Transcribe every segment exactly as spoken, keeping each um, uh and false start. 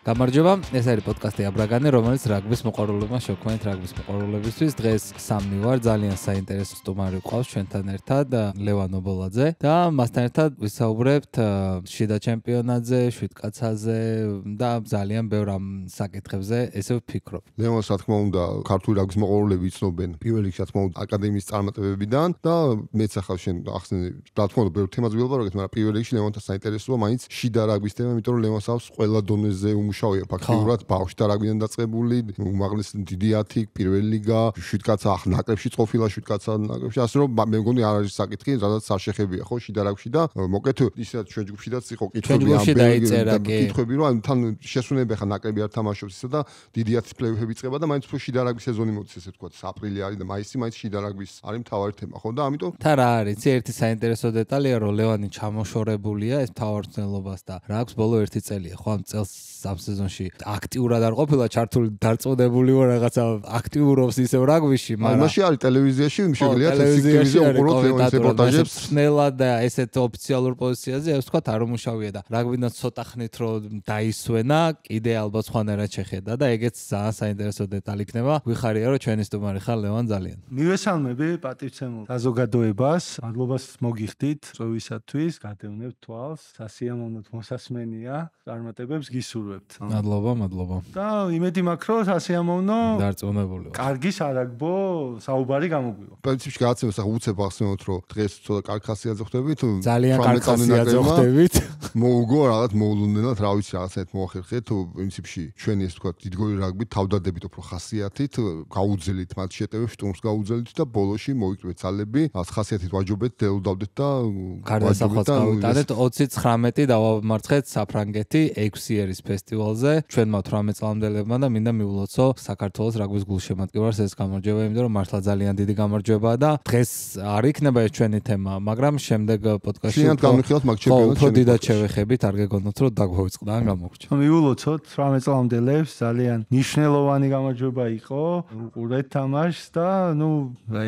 გამარჯობა, ეს არის პოდკასტი აბრაგანე, რომელიც რაგბის მოყვარულებმა შევქმნით რაგბის მოყვარულებისთვის. დღეს სამნი ვარ, ძალიან საინტერესო სტუმარი ყავს ჩვენთან ერთად, ლევან ობოლაძე და მასთან ერთად ვისაუბრებთ შიდა ჩემპიონატზე, შვიდკაცაზე და ძალიან ბევრ ამ საკითხებზე, ესე ვფიქრობ. ლევანს რა თქმა უნდა, ქართული რაგბის მოყვარულები იცნობენ პირველ რიგში, რა თქმა უნდა, აკადემიის წარმატებებიდან და მეც ახლა შენ ახსენე, რა თქმა უნდა, ბევრ თემაზე ვილაპარაკეთ, მაგრამ პირველ რიგში ლევანთან საინტერესოა მაინც შიდა რაგბის თემა, იმიტომ რომ ლევანს აქვს ყველა დონეზე მუშაობია ფაქტიურად ბავშვთა რაგბიდან დაწყებული, უმაღლესი დიდი ათი, პირველი ლიგა, შვიდკაცა ნაკრებში ყოფილა, შვიდკაცა ნაკრებში, ასე რომ მე მგონი არ არის საკითხი, რადგან არ შეხებია ხო შიდა რაგბში და მოკეთ ისედაც ჩვენ ჯგუფშიდაც იყო კითხვები ამ კითხვები რომ თან შესვენები ხა ნაკრები არ თამაშობს ისა და დიდი ათის პლეიოფები წება და მაინც შიდა რაგბის სეზონი მოდის ესე ვთქვათ, აპრილი არის და მაისი მაინც შიდა რაგბის არის მთავარი თემა ხო და ამიტომ თან რა არის, ერთი საინტერესო დეტალია რომ ლევანი ჩამოშორებულია ეს მთავარწნელობას და რაგბს ბოლო ერთი წელია ხო ამ წელს ამ სეზონში აქტიურად არ ყოფილა ჩართული დარწმუნებული ვარ რაღაცა აქტიურობს ისევ რაგბიში, მაგრამ მაშინ არის ტელევიზიაში შეგვიძლია ტელევიზიაში უყუროთ ლევანის რეპორტაჟებს ხნელად და ესეთ ოფიციალურ პოზიციაზე ეს ვთქვათ არ უმუშავია და რაგბიდან ცოტა ხნით რომ დაისვენა, კიდე ალბათ სხვანაირად შეხედა და ეგეც ძალიან საინტერესო დეტალი იქნება. ვიხარია რომ ჩვენი სტუმარი ხარ ლევან ძალიან. მივესალმები პატივცემულ საზოგადოებას, მადლობას მოგიხდით წვევისათვის, გადევნებთ თვალს, სასიამოვნოდ მოსასმენია, წარმატებებს გისურვებთ. მადლობა, მადლობა. და იმედი მაქვს რომ სასიამოვნო დარწმუნებული ვარ. კარგი სარაგბო საუბარი გამოგვივა. პრინციპში გააცემეს ახლა უცებ ახსენოთ რომ დღეს ცოტა კარგი ხასიათზე ხვდებით, ძალიან კარგი ხასიათზე ხვდებით. მოუგო რაღაც მოულოდნელად, რა ვიცი რაღაცეთ მოახერხეთ, პრინციპში ჩვენი ეს თქვა დიდგორი რაგბი თავდადებით უფრო ხასიათით, გაუძელით მათ შეტევებს, შტურმს გაუძელით და ბოლოში მოიკრიბეთ ძალები, რაღაც ხასიათით ვაჯობეთ, დელუდავდეთ და გარდასახვაც გავიტანეთ ოცი ცხრამეტი დავამარცხეთ საფრანგეთი ექვსი ერის ფესტივალზე. ჩვენმა თვრამეტ წლამდელებმა და მინდა მივლოცო საქართველოს რაგბის გულშემატკივარს ეს გამარჯვება, იმიტომ რომ მართლა ძალიან დიდი გამარჯვებაა და დღეს არ იქნება ეს ჩვენი თემა, მაგრამ შემდეგ პოდკასტში შენად გამიხილოთ მაგ ჩემპიონატს. ხო, დიდად შევეხებით, არ გეგონოთ რომ დაგვაუწყდა ან გამოგრჩა. მივლოცოთ თვრამეტ წლამდელებს, ძალიან მნიშვნელოვანი გამარჯვება იყო, უყურეთ თამაშს და ნუ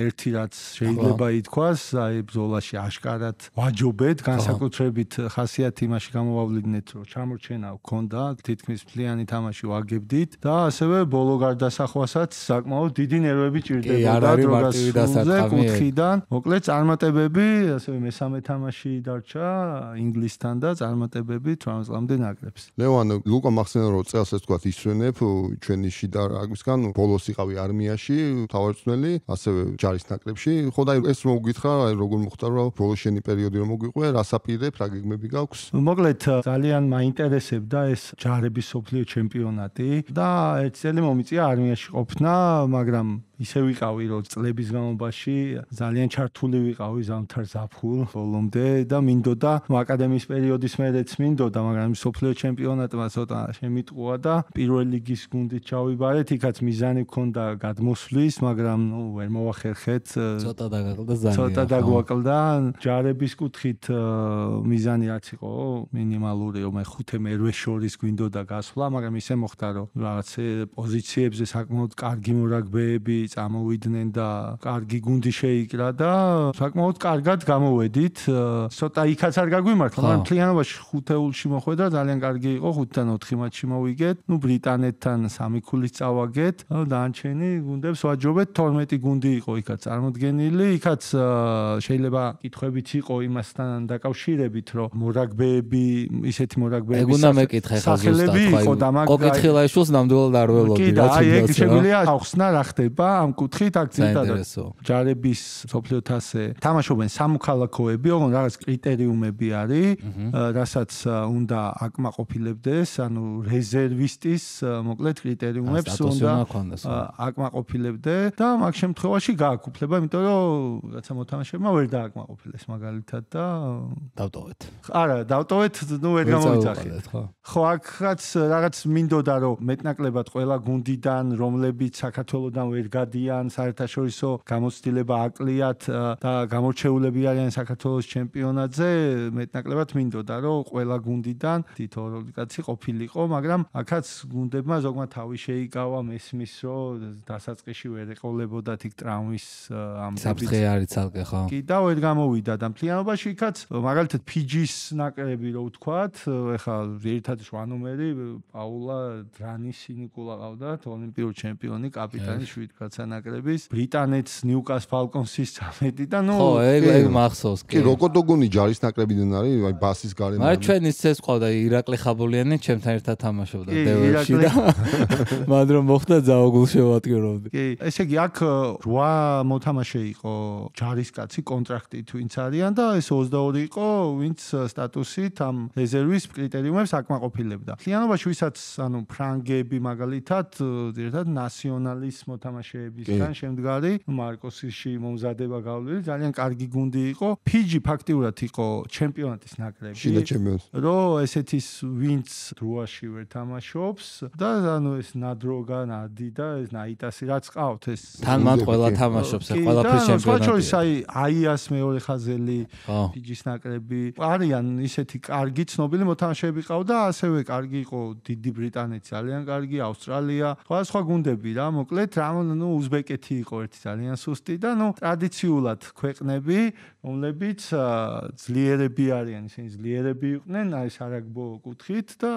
ერთი რაც შეიძლება ითქვას, აი ბრძოლაში აშკარად ვაჯობეთ, განსაკუთრებით ხასიათი იმაში გამოვავლინეთ, რომ ჩამორჩენა გქონდა, თითქმის მთლიანი თამაში ვაგებდით და ასევე ბოლო გარდასახვასაც საკმაოდ დიდი ნერვები ჭირდებოდა დროგასრულზე კუთხიდან. მოკლედ წარმატებები, ასევე მესამე თამაში დარჩა ინგლისთან და წარმატებები თვრამეტ წლამდე ნაკრებს. ლევან, ლუკა მახსენე რომ წელს ეს თქვა ისვენებ ჩვენი შიდა რაგბისგან, ბოლოს იყავი არმიაში, თავარწნელი, ასევე ჯარის ნაკრებში. ხო და ეს მოგვითხრა, როგორ მოხდა რომ ბოლოს შენი პერიოდი რომ მოგვიყვე, რას აპირებ, რა გეგმები გაქვს? მოკლედ ძალიან მაინტერესებდა ეს ჯარების სოფლიო ჩემპიონატი და ერთ წელი მომიწია არმიაში ყოფნა, მაგრამ ისე ვიყავი რომ წლების განმავლობაში ძალიან ჩართული ვიყავი ზამთარ ზაფხულ ბოლომდე და მინდოდა აკადემიის პერიოდის მერეც მინდოდა, მაგრამ სოფლიო ჩემპიონატმა ცოტა შემიტყუა და პირველ ლიგის გუნდით ჩავიბარეთ, იქაც მიზანი გქონდა გადმოსვლის, მაგრამ ნუ ვერ მოახერხეთ. ცოტა დაგაკლდა ძალიან. ცოტა დაგვაკლდა. ჯარების კუთხით მიზანი რაც იყო მინიმალური, რომ ხუთე მერვე შორის გვინდოდა გასვლა, მაგრამ ისე მოხდა რომ რაღაც პოზიციებზე საკმაოდ კარგი მორაგბეები წამოვიდნენ და კარგი გუნდი შეიკრა და საკმაოდ კარგად გამოვედით. ცოტა იქაც არ გაგვიმართლა, მაგრამ მთლიანობაში ხუთეულში მოხვედრა ძალიან კარგი იყო, ხუთიდან ოთხი მატჩი მოვიგეთ. ნუ ბრიტანეთთან სამი ქულით წავაგეთ. დანარჩენი გუნდებს ვაჯობეთ, თორმეტი გუნდი იყო იქაც წარმოდგენილი. იქაც შეიძლება კითხვებიც იყო იმასთან დაკავშირებით, რომ მორაგბეები, ისეთი მორაგბეები ეგ უნდა მეკითხე ხა ზუსტად. კოკითხილაშვილს ნამდვილად არ ველოდი, რა თქმა უნდა. შეგვიძლია ახსნა რა ხდება ამ კუთხით აქცენტად. ჯარების სოფლიო თასზე თამაშობენ სამოქალაქოები, ოღონდ რაღაც კრიტერიუმები არის, რასაც უნდა აკმაყოფილებდეს, ანუ რეზერვისტის მოკლედ კრიტერიუმებს უნდა აკმაყოფილებდე და მაგ შემთხვევაში გააქვს უფლება, იმიტომ რომ რაცა მოთამაშეებმა ვერ დააკმაყოფილეს მაგალითად და დავტოვეთ. არა, დავტოვეთ, ნუ ვერ გამოვიძახეთ. ხო, აქაც რაღაც მინდოდა რომ მეტნაკლებად ყველა გუნდიდან, რომლებიც საქართველოსდან ვერ გადიან საერთაშორისო გამოცდილება აკლიათ და გამორჩეულები არიან საქართველოს ჩემპიონატზე, მეტნაკლებად მინდოდა რომ ყველა გუნდიდან თითო ორი კაცი ყოფილიყო, მაგრამ აქაც გუნდებმა ზოგმა თავი შეიკავა, მესმის რომ დასაწყისში ვერ ეყოლებოდათ იქ ტრამვის ამბებით. საფრთხე არის ცალკე ხო? კი და ვერ გამოვიდა და მთლიანობაში იქაც მაგალითად ფიჯის ნაკრები რო ვთქვათ, ეხლა ერთად შვა ნომერი პაულა დრანისი ნიკოლა ყავდათ, ოლიმპიური ჩემპიონი, კაპიტანი შვიდ კაცა ნაკრების, ბრიტანეთს ნიუკას ფალკონსის წამედი და ნუ ხო, ეგ ეგ მახსოვს კი. როკოდოგონი ჯარის ნაკრებიდან არის, აი ბასის გარემო. მაგრამ ჩვენ ის ეს ყავდა ირაკლი ხაბულიანი ჩემთან ერთად თამაშობდა დევერში და მან რომ მოხდა ზაოგულ შევატკირავდი. კი, ესე იგი აქ რვა მოთამაშე იყო ჯარისკაცი კონტრაქტით ვინც არიან და ეს ოცდაორი იყო ვინც სტატუსით ამ რეზერვის კრიტერიუმებს აკმაყოფილებდა. მთლიანობაში ვისაც ანუ ფრანგები მაგალითად ერთად ნაციონალის მოთამაშეებისგან შემდგარი მარკოსიში მომზადება გავლილი ძალიან კარგი გუნდი იყო. ფიჯი ფაქტიურად იყო ჩემპიონატის ნაკრები. შიდა ჩემპიონი. რომ ესეთის ვინც დროაში ვერ თამაშობს და ანუ ეს ნადროგა, ნადი და ეს ნაიტასი რაც ყავთ ეს თან მათ ყველა თამაშობს, ყველაფრის ჩემპიონატი. სხვა აი აიას მეორე ხაზელი ფიჯის ნაკრები არიან ისეთი კარგი ცნობილი მოთამაშეები ყავდა, ასევე კარგი იყო დიდი ბრიტანეთი, ძალიან კარგი ავსტრალია, სხვა სხვა გუნდები რა, მოკლედ რა ნუ უზბეკეთი იყო ერთი ძალიან სუსტი და ნუ ტრადიციულად ქვეყნები, რომლებიც ძლიერები არიან, ისინი ძლიერები იყვნენ, აი სარაგბო კუთხით და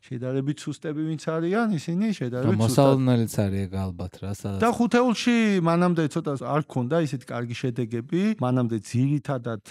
შედარებით სუსტები ვინც არიან, ისინი შედარებით სუსტად. მოსალოდნელიც არის ეგ ალბათ რა, სადაც. და ხუთეულში მანამდე ცოტა არ ქონდა ისეთი კარგი შედეგები, მანამდე ძირითადად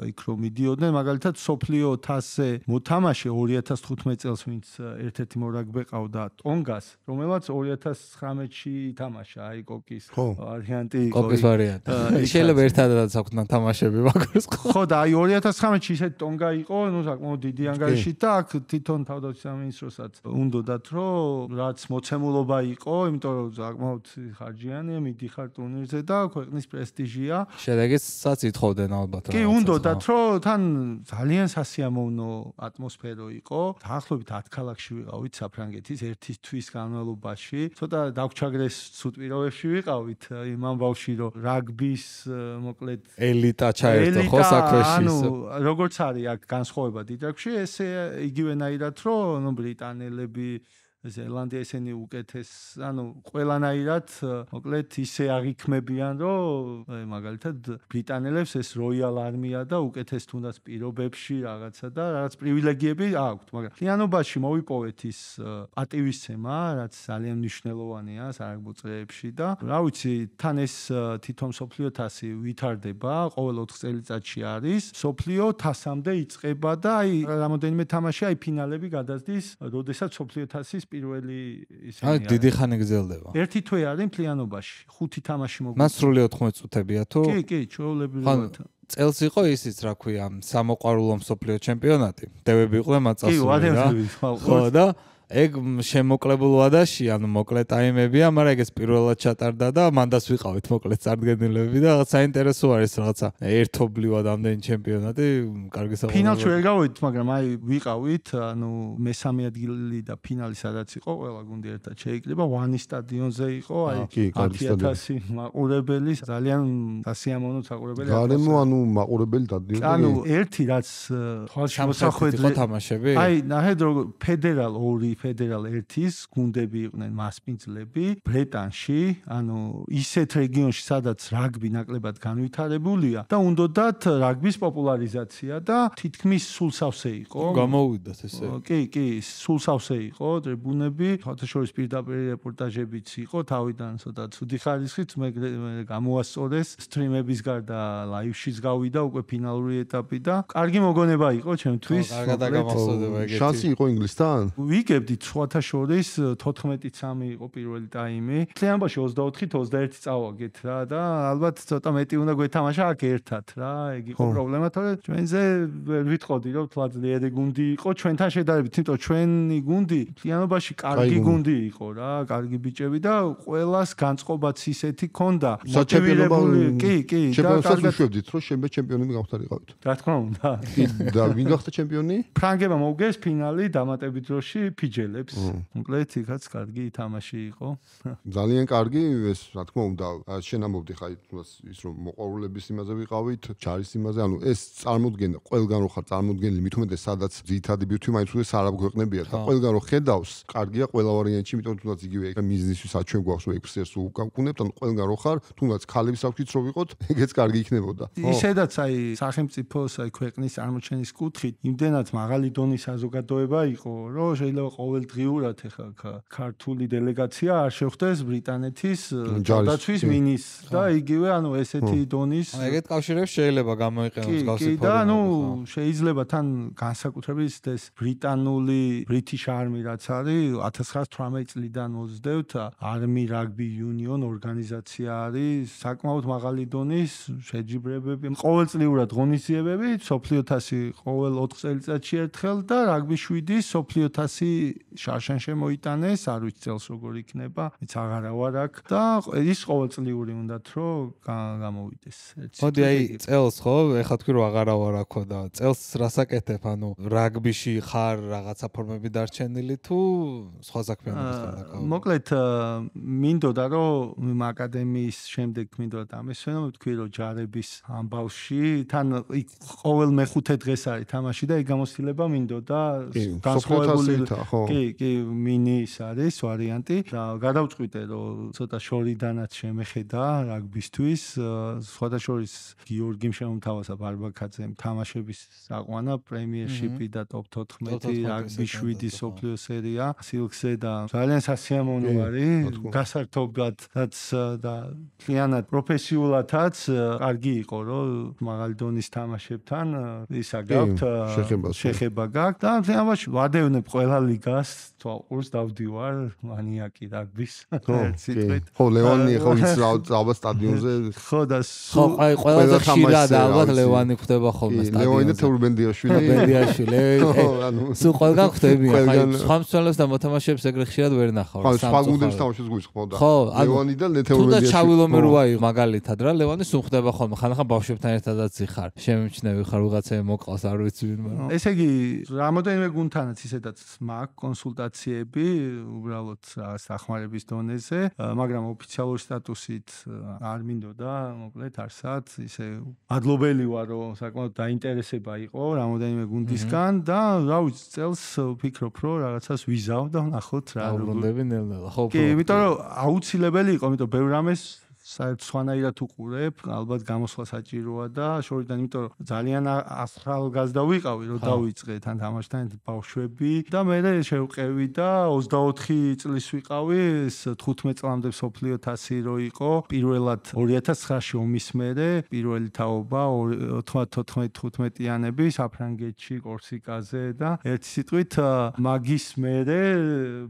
იქ რომ მიდიოდნენ, მაგალითად სოფლიო თასზე მოთამაშე ორი ათას თხუთმეტ წელს ვინც ერთ-ერთი მორაგბე ყავდა ტონგას, რომელმაც ორი ათას ცხრამეტში ითამაშა, აი კოკის ვარიანტი იყო. კოკის ვარიანტი. შეიძლება ერთადაც აქვს თამაშები მაგას ხო? ხო და აი ორი ათას ცხრამეტში ისეთი ტონგა იყო, ნუ საკმაოდ დიდი ანგარიშით და აქ თვითონ თავდაცვის სამინისტროსაც უნდოდათ რომ რაც მოცემულობა იყო, იმიტომ რომ საკმაოდ ხარჯიანია, მიდიხარ ტურნირზე და ქვეყნის პრესტიჟია. შედეგსაც ითხოვდნენ ალბათ რა. კი, უნდოდათ რომ თან ძალიან სასიამოვნო ატმოსფერო იყო. დაახლოებით ათ ქალაქში ვიყავით საფრანგეთის ერთი თვის განმავლობაში. ცოტა დაგვჩაგრეს ცუდ პირობებში ვიყავით იმ ამბავში რომ რაგბის მოკლედ ელიტა ჩაერთო ხო საქმეში. ანუ როგორც არის აქ განსხვავება დიდ რაგბში, ესე იგივენაირად რომ ნუ ბრიტანელები ზელანდია ესენი უკეთეს, ანუ ყველანაირად მოკლედ ისე აღიქმებიან, რომ მაგალითად ბრიტანელებს ეს როიალ არმია და უკეთეს თუნდაც პირობებში რაღაცა და რაღაც პრივილეგიები აქვთ, მაგრამ მთლიანობაში მოვიპოვეთ ის პატივისცემა, რაც ძალიან მნიშვნელოვანია სარაგბო წრეებში და რა ვიცი, თან ეს თვითონ სოფლიო თასი ვითარდება, ყოველ ოთხ წელიწადში არის, სოფლიო თასამდე იწყება და აი რამოდენიმე თამაში აი ფინალები გადასდის, როდესაც სოფლიო თასის პირველი ისინი აი დიდი ხანი გრძელდება. ერთი თვე არის მთლიანობაში, ხუთი თამაში მოგვიწევს. მას სრული ოთხმოცდაათი წუთებია თუ? კი, კი, ჩვეულებრივად. წელს იყო ისიც, რა ქვია, სამოყვარულო მსოფლიო ჩემპიონატი. დევები იყვნენ მაწასული. კი, ვადები. ხო და ეგ შემოკლებულ ვადაში, ანუ მოკლე ტაიმებია, მაგრამ ეგ ეს პირველად ჩატარდა და მანდას ვიყავით მოკლე წარდგენილები და რაღაც საინტერესო არის რაღაცა ერთობლივად ამდენი ჩემპიონატი, კარგი საუბარი. ფინალში ვერ გავიდით, მაგრამ აი ვიყავით, ანუ მესამე ადგილი და ფინალი სადაც იყო, ყველა გუნდი ერთად შეიკრიბა, ვანის სტადიონზე იყო, აი ათი ათასი მაყურებელი, ძალიან სასიამოვნო საყურებელი. გარემო ანუ მაყურებელი დადიოდა. ანუ ერთი რაც თვალში მოსახვედრე იყო თამაშები. აი ნაჰედ როგორ ფედერალ ორი ფედერალ ერთის გუნდები იყვნენ მასპინძლები ბრეტანში, ანუ ისეთ რეგიონში, სადაც რაგბი ნაკლებად განვითარებულია და უნდოდათ რაგბის პოპულარიზაცია და თითქმის სულ სავსე იყო. გამოვიდათ ესე. კი, კი, სულ სავსე იყო ტრიბუნები, ფოტოშორის პირდაპირ რეპორტაჟებიც იყო, თავიდან ცოტა ცუდი ხარისხით, მე გამოასწორეს სტრიმების გარდა ლაივშიც გავიდა უკვე ფინალური ეტაპი და კარგი მოგონება იყო ჩემთვის. კარგად გამოსწორდება ეგეთი. შანსი იყო ინგლისთან? ვიგებდით სხვათა შორის თოთხმეტი სამი იყო პირველი ტაიმი. მთლიანობაში ოცდაოთხით ოცდაერთი წავაგეთ რა და ალბათ ცოტა მეტი უნდა გვეთამაშა აქ ერთად რა. ეგ იყო პრობლემა, თორე ჩვენზე ვერ ვიტყოდი რომ თლა ძლიერი გუნდი იყო ჩვენთან შედარებით, იმიტომ ჩვენი გუნდი მთლიანობაში კარგი გუნდი იყო რა, კარგი ბიჭები და ყველას განწყობაც ისეთი ქონდა. მოტივირებული, კი, კი, და კარგად ვშვებდით, რომ შემდეგ ჩემპიონები გავხდარიყავით. რა თქმა უნდა. და ვინ გახდა ჩემპიონი? ფრანგებმა მოუგეს ფინალი დამატებით დროში ფიჯი შეიძელებს. მოკლედ იქაც კარგი თამაში იყო. ძალიან კარგი, ეს რა თქმა უნდა, შენ ამბობდი ხა ის რომ მოყვარულების იმაზე ვიყავით, ჯარის იმაზე, ანუ ეს წარმოდგენა ყველგან რო ხარ წარმოდგენილი, მით უმეტეს სადაც ძირითადი ბირთვი მაინც უდეს არ აგვეყნებია და ყველგან რო ხედავს, კარგია ყველა ვარიანტში, იმიტომ რომ თუნდაც იგივე ეგ მიზნისთვისაც ჩვენ გვაქვს რომ ექსპერტს უგავკუნებთ, ანუ ყველგან რო ხარ, თუნდაც ქალების საფრთხით რო ვიყოთ, ეგეც კარგი იქნებოდა. ისედაც აი სახელმწიფოს აი ქვეყნის წარმოჩენის კუთხით იმდენად მაღალი დონის საზოგადოება იყო, რომ შეიძლება ყოველდღიურად ეხლა ქართული დელეგაცია არ შეხვდეს ბრიტანეთის ჯარდაცვის მინისტრს და იგივე ანუ ესეთი დონის ეგეთ კავშირებს შეიძლება გამოიყენოს გავსი ფორუმი. და ანუ შეიძლება თან განსაკუთრებით ეს ბრიტანული British Army რაც არის ათას ცხრაასი თვრამეტი წლიდან მოვსდევთ Army Rugby Union ორგანიზაცია არის საკმაოდ მაღალი დონის შეჯიბრებები ყოველწლიურად ღონისძიებები სოფლიო თასი ყოველ ოთხ წელიწადში ერთხელ და რაგბი შვიდის სოფლიო თასი შარშანში მოიტანეს არ ვიცი წელს როგორ იქნება იც აღარა ვარ აქ და ის ყოველწლიური უნდათ რომ გამოვიდეს მოდი აი წელს ხო ეხლა თქვი რომ აღარა ვარ აქო და წელს რასაკეთებ ანუ რაგბიში ხარ რაღაცა ფორმები დარჩენილი თუ სხვა საქმიანობისგან დაკავებული მოკლედ მინდოდა რომ აკადემიის შემდეგ მინდოდა ამესვენო თქვი რომ ჯარების ამბავში თან ყოველ მეხუთე დღეს არის თამაში და ეგ გამოცდილება მინდოდა განსხვავებული კი კი მინის არის ვარიანტი და გადავწყვიტე რომ ცოტა შორიდანაც შემეხედა რაგბისთვის სხვადასხვა გიორგიმ შემოთავაზა ბარბაკაძემ თამაშების საყვანა პრემიერშიპი და ტოპ თოთხმეტი რაგბი შვიდი სოფლიო სერია სილქსე და ძალიან სასიამოვნო არის გასართობადაც და მთლიანად პროფესიულადაც კარგი იყო რომ მაღალი დონის თამაშებთან ისა გაქვთ შეხება გაქვთ და თამაში ვადევნებ ყველა ლიგას თვალყურს დავდივარ მანიაკი რაგბის ციტყვით ხო ლევანი ხო ის ალბათ სტადიონზე ხო და ხო აი ყველაზე ხშირად ალბათ ლევანი ხვდება ხოლმე სტადიონზე ლევანი და თურბენდიაშვილი ბენდიაშვილი სულ ყველგან ხვდებიან ხაი სხვა მსვლელებს და მოთამაშეებს ეგრე ხშირად ვერ ნახავ ხო სხვა გუნდებს თამაშობს გულისხმობდა ხო ლევანი და თურბენდიაშვილი თუნდაც ჩავილომე როა მაგალითად რა ლევანი სულ ხვდება ხოლმე ხანახან ბავშვებთან ერთადაც იხარ შემიმჩნევი ხარ ვიღაცები მოყავს არ ვიცი ვინმე ესე იგი რამოდენიმე გუნდთანაც ისედაც მაქვს კონსულტაციები უბრალოდ რაღაც დახმარების დონეზე მაგრამ ოფიციალური სტატუსით არ მინდოდა მოკლედ არსად ისე ადლობელი ვარ რომ საკმაოდ დაინტერესება იყო რამოდენიმე გუნდისგან და რა ვიცი წელს ვფიქრობ რომ რაღაცას ვიზავ და ვნახოთ რა უბრუნდები ნელ-ნელა ხო კი იმიტომ რომ აუცილებელი იყო იმიტომ ბევრ რამეს საერთოდ სხვანაირად უყურებ, ალბათ გამოსვლა საჭიროა და შორიდან, იმიტომ რომ ძალიან ახალგაზრდა ვიყავი, რომ დავიწყე თან თამაშთან ბავშვები და მე შევყევი და ოცდაოთხი წლის ვიყავი, ეს თხუთმეტ წლამდე სოფლიო თასი რო იყო, პირველად ორი ათას ცხრაში ომის მერე, პირველი თაობა ოცდათოთხმეტი თხუთმეტიანები საფრანგეთში, კორსიკაზე და ერთი სიტყვით მაგის მერე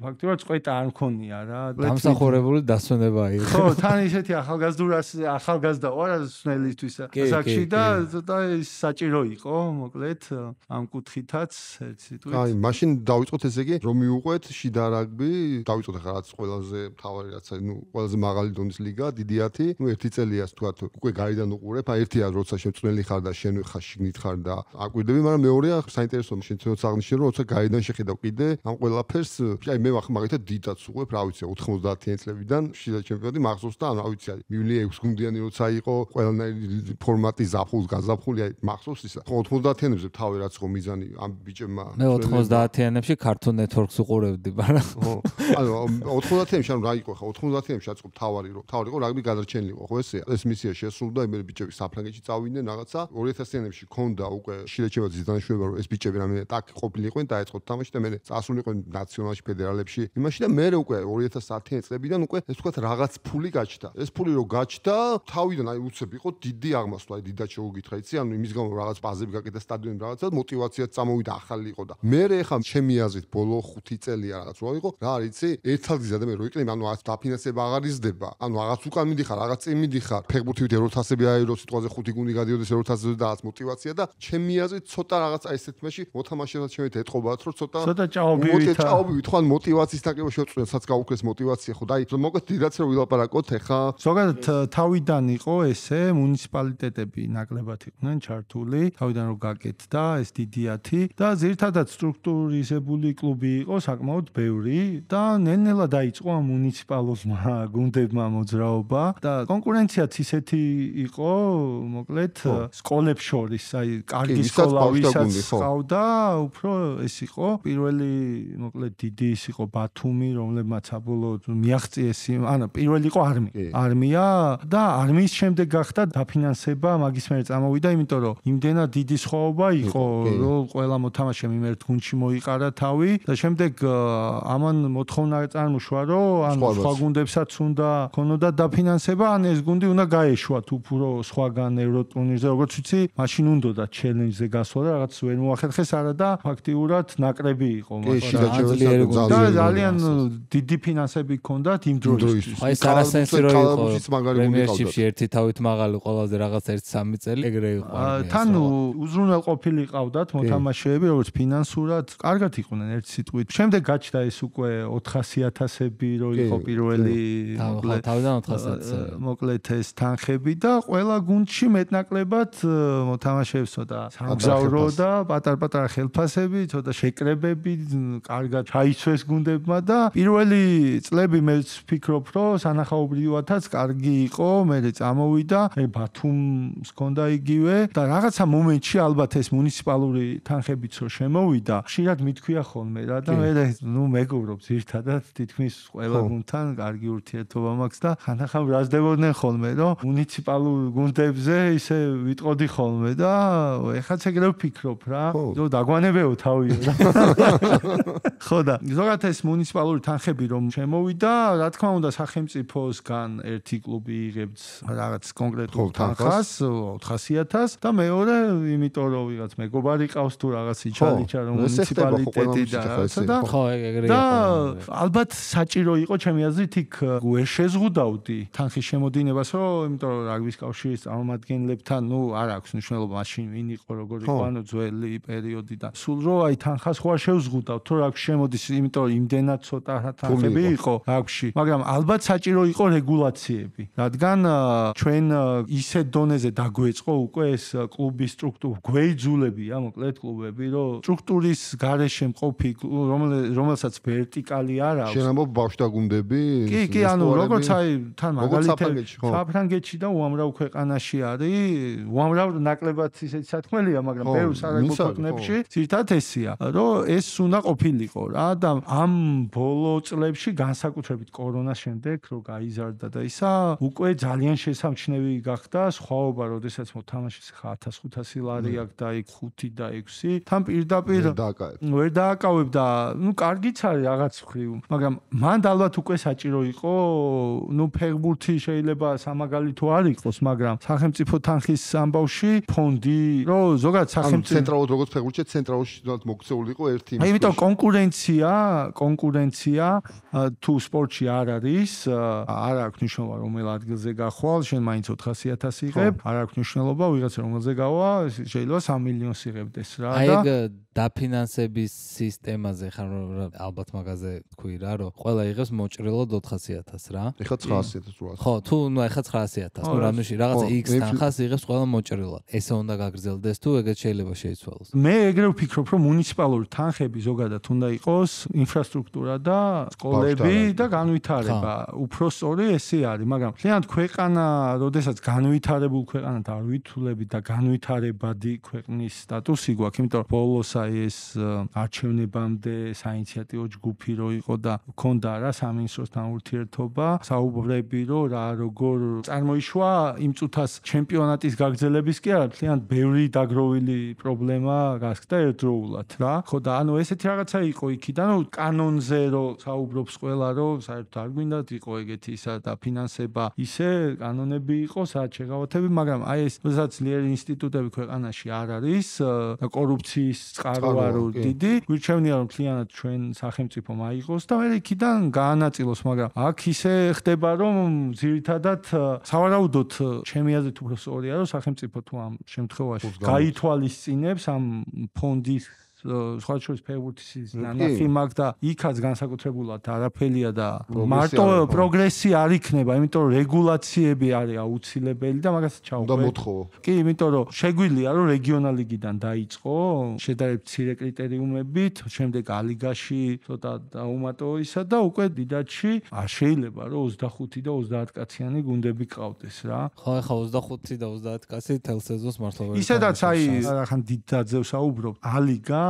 ფაქტობრივად წყვეტა არ მქონია რა. დამსახურებული დასვენება იყო. ხო, თან ისეთი ახალგაზრდურას ახალგაზრდა ვარ სნელისთვის საკში და და საჭირო იყო მოკლედ ამ კუთხითაც ერთ სიტყვით აი მაშინ დავიწყოთ ესე იგი რომ მიუყვეთ შიდა რაგბი დავიწყოთ ახლა რაც ყველაზე მთავარი რაც ნუ ყველაზე მაღალი დონის ლიგა დიდი ათი ნუ ერთი წელია თქვათ უკვე გარიდან უყურებ აი ერთია როცა შემწნელი ხარ და შენ ხარ შიგნით ხარ და აკვირდები მაგრამ მეორეა საინტერესოა შენ თვითონ აღნიშნე რომ როცა გარიდან შეხედავ კიდე ამ ყველაფერს აი მე მაგალითად დიდაც უყურებ რა ვიცი ოცდაათიანი წლებიდან შიდა ჩემპიონატი მახსოვს და ანუ რა ვიცი მივლი ექვს გუნდიანი როცა იყო ყველანაირი ფორმატი ზაფხულს გაზაფხული აი მახსოვს ისა ოცდაათიანებზე თავი რაც ხო მიზანი ამ ბიჭებმა მე ოცდაათიანებში Cartoon Network-ს უყურებდი მაგრამ ხო ანუ ოცდაათიანებში ანუ რა იყო ხა ოცდაათიანებში აწყობ თავარი რომ თავარი იყო რაგბი გადარჩენილიყო ხო ესეა ეს მისია შესრულდა იმერი ბიჭები საფრანგეთში წავიდნენ რაღაცა ორი ათასიანებში ქონდა უკვე შილეჩევაძის დანიშნულება რომ ეს ბიჭები რამე ტაკ ყოფილიყვენ დაეწყოთ თამაში და მე წასულიყვენ ნაციონალში ფედერალებში იმაში და მე უკვე ორი ათასათიანი წლებიდან უკვე ეს თქვა რაღაც ფული გაჩნდა ეს ფული რო გაჩნდა თავიდან აი უცებ იყო დიდი აღმასვლა აი დიდად შეგუგითხა იცი ანუ იმის გამო რაღაც ბაზები გაკეთდა სტადიონი რაღაცა მოტივაციაც წამოვიდა ახალი იყო და მე ხა ჩემი აზრით ბოლო ხუთი წელია რაღაც რო იყო რა არის იცი ერთადღიზა და მე რო იკლებ ანუ რაღაც დაფინანსება აღარ იზრდება ანუ რაღაც უკან მიდიხარ რაღაც წინ მიდიხარ ფეხბურთივით ევროთასები აირო სიტყვაზე ხუთი გუნდი გადიოდეს ევროთასებზე და რაღაც მოტივაცია და ჩემი აზრით ცოტა რაღაც აი ესეთ მეში მოთამაშეებსაც შევეთ ეტყობათ რომ ცოტა ცოტა ჭაობივით ჭაობივით ხო ან მოტივაციის დაკება შეწყვეტ სადაც გაუქმეს მოტივაცია ხო და აი მოკლედ დიდაც რო ვილაპარაკოთ ეხა ზოგადად თავიდან იყო ესე მუნიციპალიტეტები ნაკლებად იყვნენ ჩართული, თავიდან რომ გაკეთდა ეს დიდიათი და ძირითადად სტრუქტურიზებული კლუბი იყო საკმაოდ ბევრი და ნელ-ნელა დაიწყო ამ მუნიციპალურმა გუნდებმა მოძრაობა და კონკურენციაც ისეთი იყო, მოკლედ სკოლებს შორის, აი კარგი სკოლა ვისაც ყავდა, უფრო ეს იყო პირველი, მოკლედ დიდი ის იყო ბათუმი, რომლებმაც საბოლოოდ მიაღწიეს, ანუ პირველი იყო არმია. არმია და არმიის შემდეგ გახდა დაფინანსება, მაგის მერე წამოვიდა, იმიტომ რომ იმდენად დიდი სხვაობა იყო, რომ ყველა მოთამაშემ იმ ერთ გუნდში მოიყარა თავი და შემდეგ ამან მოთხოვნა წარმოშვა, რომ ან სხვა გუნდებსაც უნდა ქონოდა დაფინანსება, ან ეს გუნდი უნდა გაეშვათ უფრო სხვაგან ევროტურნირზე, როგორც ვიცი, მაშინ უნდოდა ჩელენჯზე გასვლა და რაღაც ვერ მოახერხეს არა და ფაქტიურად ნაკრები იყო, მაგრამ და ძალიან დიდი ფინანსები ჰქონდათ იმ დროისთვის. აი ეს არასენსი რო იყო პრემიერშიპში ერთი თავით მაღალი ყველაზე რაღაც ერთი სამი წელი ეგრე იყო. თან უზრუნველყოფილი ყავდათ მოთამაშეები, როგორც ფინანსურად კარგად იყვნენ ერთი სიტყვით. შემდეგ გაჩნდა ეს უკვე ოთხასი ათასები რო იყო პირველი, მოკლედ თავიდან ოთხასი ათასი. მოკლედ ეს თანხები და ყველა გუნდში მეტნაკლებად მოთამაშეებს ცოტა სამგზავრო და პატარ-პატარა ხელფასები, ცოტა შეკრებები, კარგად ჩაიცვეს გუნდებმა და პირველი წლები მე ვფიქრობ, რომ სანახაობრივადაც კარგი იყო, მე წამოვიდა, მე ბათუმს ჰქონდა იგივე და რაღაცა მომენტში ალბათ ეს მუნიციპალური თანხებიც რო შემოვიდა, ხშირად მithქვია ხოლმე რა და მე ნუ მეგობრობ ზირთადად თითქმის ყველა გუნდთან კარგი ურთიერთობა მაქვს და ხანდახან ბრაზდებოდნენ ხოლმე, რომ მუნიციპალურ გუნდებზე ისე ვიტყოდი ხოლმე და ეხაც ეგრე ვფიქრობ რა, რომ დაგვანებეო თავიო რა. ხო და ზოგადად ეს მუნიციპალური თანხები რომ შემოვიდა, რა თქმა უნდა სახელმწიფოსგან ერთი კლუბი იღებს რაღაც კონკრეტულ თანხას, ოთხასი ათასს და მეორე, იმიტომ რომ ვიღაც მეგობარი ყავს თუ რაღაც იჩალიჩა რომ მუნიციპალიტეტი და და ხო ეგრე იყო. და ალბათ საჭირო იყო ჩემი აზრით იქ ვერ შეზღუდავდი თანხის შემოდინებას, რომ იმიტომ რომ რაგბის კავშირის წარმომადგენლებთან, ნუ არ აქვს მნიშვნელობა მაშინ ვინ იყო, როგორ იყო, ანუ ძველი პერიოდი და სულ რო აი თანხას ხო არ შევზღუდავ, თუ რაგბში შემოდის, იმიტომ რომ იმდენად ცოტა თანხები იყო რაგბში, მაგრამ ალბათ საჭირო იყო რეგულაციები, რადგან ჩვენ ისეთ დონეზე დაგვეწყო უკვე ეს კლუბის სტრუქტურა, გვეიძულებია, მოკლედ კლუბები, რომ სტრუქტურის გარეშე მყოფი, რომელსაც ვერტიკალი არ აქვს. შენ ამბობ ბავშვთა გუნდები? კი, კი, ანუ როგორც აი თან მაგალითად საფრანგეთში და უამრავ ქვეყანაში არის, უამრავ ნაკლებად ისეთი სათქმელია, მაგრამ ბევრ სარაგბო ქვეყნებში ძირითადად ესია, რომ ეს უნდა ყოფილიყო რა და ამ ბოლო წლებში განსაკუთრებით კორონას შემდეგ რო გაიზარდა და ისა უკვე ძალიან შესამჩნევი გახდა სხვაობა, როდესაც მოთამაშეს ხა ათას ხუთასი ლარი აქვს და იქ ხუთი და ექვსი თან პირდაპირ ვერ დააკავებ და ნუ კარგიც არის რაღაც მხრივ, მაგრამ მან ალბათ უკვე საჭირო იყო, ნუ ფეხბურთი შეიძლება სამაგალითო არ იყოს, მაგრამ სახელმწიფო თანხის ამბავში ფონდი, რომ ზოგადად სახელმწიფო ცენტრალურად როგორც ფეხბურთში ცენტრალში მოქცეული იყო ერთი აი იმიტომ კონკურენცია, კონკურენცია თუ სპორტში არ არის, არ აქვს მნიშვნელობა რომელ ადგილზე გახვალ, შენ მაინც ოთხასი ათასი იღებ, არ აქვს მნიშვნელობა ვიღაცა რომელზე გავა, შეიძლება სამი მილიონს იღებდეს რა და აი ეგ დაფინანსების სისტემაზე ხარ ალბათ მაგაზე თქვი რა, რომ ყველა იღებს მოჭრილად ოთხასი ათასს რა. ეხლა ცხრაასი ათასს რა. ხო, თუ ნუ ეხლა ცხრაასი ათასს, ნუ რამეში რაღაცა X თანხას იღებს ყველა მოჭრილად. ესე უნდა გაგრძელდეს თუ ეგეც შეიძლება შეიცვალოს. მე ეგრე ვფიქრობ, რომ მუნიციპალური თანხები ზოგადად უნდა იყოს ინფრასტრუქტურა და სკოლები და განვითარება. უფრო სწორი ესე არის, მაგრამ მთლიანად ქვეყანა, როდესაც განვითარებულ ქვეყანად არ ვითვლები და განვითარებადი ქვეყნის სტატუსი გვაქვს, იმიტომ რომ ბოლოს აი ეს არჩევნებამდე საინიციატივო ჯგუფი რო იყო და ქონდა რა სამინისტროსთან ურთიერთობა, საუბრები რო რა როგორ წარმოიშვა იმ წუთას ჩემპიონატის გაგრძელების კი არა, მთლიანად ბევრი დაგროვილი პრობლემა გასხდა ერთდროულად რა. ხო და ანუ ესეთი რაღაცა იყო იქიდან, რომ კანონზე რო საუბრობს ყველა, რომ საერთოდ არ გვინდათ იყო ეგეთი ისა და ფინანსება, ისე კანონები იყო, სადაც შეღავათები, მაგრამ აი ეს როდესაც ძლიერი ინსტიტუტები ქვეყანაში არ არის და კორუფციის წყარო არო დიდი, გვირჩევნია რომ მთლიანად ჩვენ სახელმწიფო მაიღოს და მე იქიდან გაანაწილოს, მაგრამ აქ ისე ხდება, რომ ძირითადად სავარაუდოდ ჩემი აზრით უფრო სწორია, რომ სახელმწიფო თუ ამ შემთხვევაში გაითვალისწინებს ამ ფონდის სხვა შორის ფეხბურთის ნანახი მაქვს და იქაც განსაკუთრებულად არაფერია და მარტო პროგრესი არ იქნება, იმიტომ რომ რეგულაციები არის აუცილებელი და მაგას ჩავყვეთ. და მოთხოვო. კი, იმიტომ რომ შეგვიძლია რომ რეგიონალ ლიგიდან დაიწყო, შედარებით მცირე კრიტერიუმებით, შემდეგ ალიგაში ცოტა დაუმატო ისა და უკვე დიდათში არ შეიძლება რომ ოცდახუთი და ოცდაათ კაციანი გუნდები ყავდეს რა. ხო, ახლა ოცდახუთი და ოცდაათ კაცი თელ სეზონს მართლა ვერ. ისედაც აი ახან დიდ დაძევს აუბრობ. ალიგა,